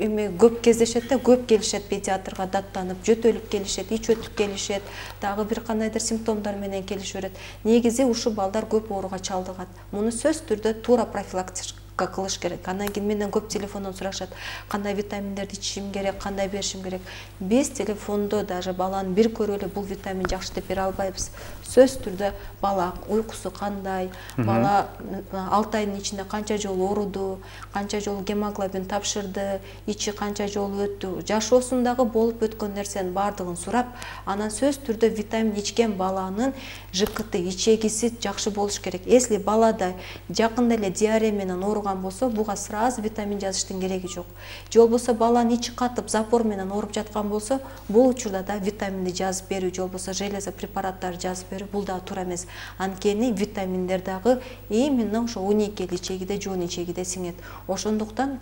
көп кездешет да, көп келишет педиатрга даттанып, жөтөлүп келишет, ич өтүп келишет, дагы бир кандайдыр симптомдор менен келишет. Негизи ушу балдар көп ооруга чалдыгат. Муну сөзсүз түрдө туура профилактика кылыш керек. Андан кийин менден көп телефондон сурашат, кандай витаминдерди ичишим керек, кандай беришим керек. Биз телефондо даже баланы бир көрүп эле бул витамин жакшы деп бере албайбыз. Сөзсүз түрдө бала уйкусу кандай, бала 6 айдын ичинде канча жолу ооруду, канча жолу гемоглобин тапшырды, ичи канча жолу өттү, жашоосундагы болуп өткөн нерсенин баардыгын сурап, анан сөзсүз түрдө витамин ичкен баланын ЖКТ ичегиси жакшы болуш керек. Если балада жакында эле диарея менен ооруган болсо, буга сразу витамин жазыштын кереги жок. Же болбосо баланын ичи катып, запор менен ооруп жаткан болсо, бул учурда да витаминди жазып берүү, же болбосо железо препараттарды жазып берүү, бул да туура эмес. Анткени витаминдер дагы именно ошо уникель ичегиде, жуун ичегиде сиңет. Ошондуктан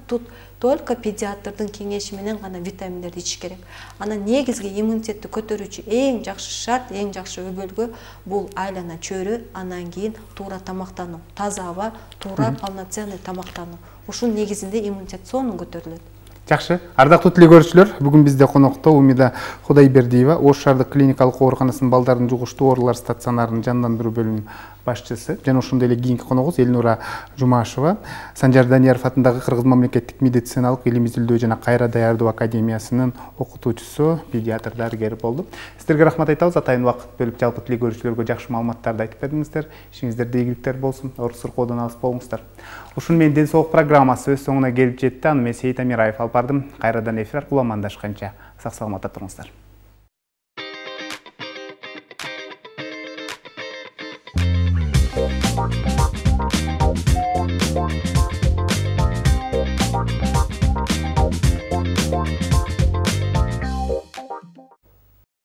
только педиатрдын кеңеши менен гана витаминдерди ичиш керек. Анан негизги иммунитетти көтөрүүчү эң жакшы шарт, эң жакшы өбөлгө бул айлана чөйрө, андан кийин туура тамактануу, таза аба, туура полноценный тамактануу. Ушунун негизинде иммунитет сонун көтөрүлөт.
Жакшы. Ардактуу телекөрүүчүлөр, бүгүн бизде конокто Умида Кудайбердиева, Ош шаардык клиникалык ооруканасынын балдардын жугуштуу оорулар стационарынын жандандыруу бөлүмүнүн башчысы, жана ошондой эле кийинки коногубуз Элнура Жумашева, Санжар Данияров атындагы Кыргыз мамлекеттик медициналык илим изилдөө жана кайра даярдоо академиясынын окутуучусу, педиатр дарыгер болду. Сиздерге рахмат айтабыз, атайын убакыт бөлүп жалпы телекөрүүчүлөргө жакшы маалыматтарды айтып бердиңиздер. Ишиңиздерде ийгиликтер болсун, оор сыркоодон алыс болуңуздар. Ушуну менен Ден соолук программасы өз соңуна келип жетти. Аны мен Сейит Амираев алып бардым. Кайрадан эфир аркылуу амандашканча сак саламатта туруңуздар.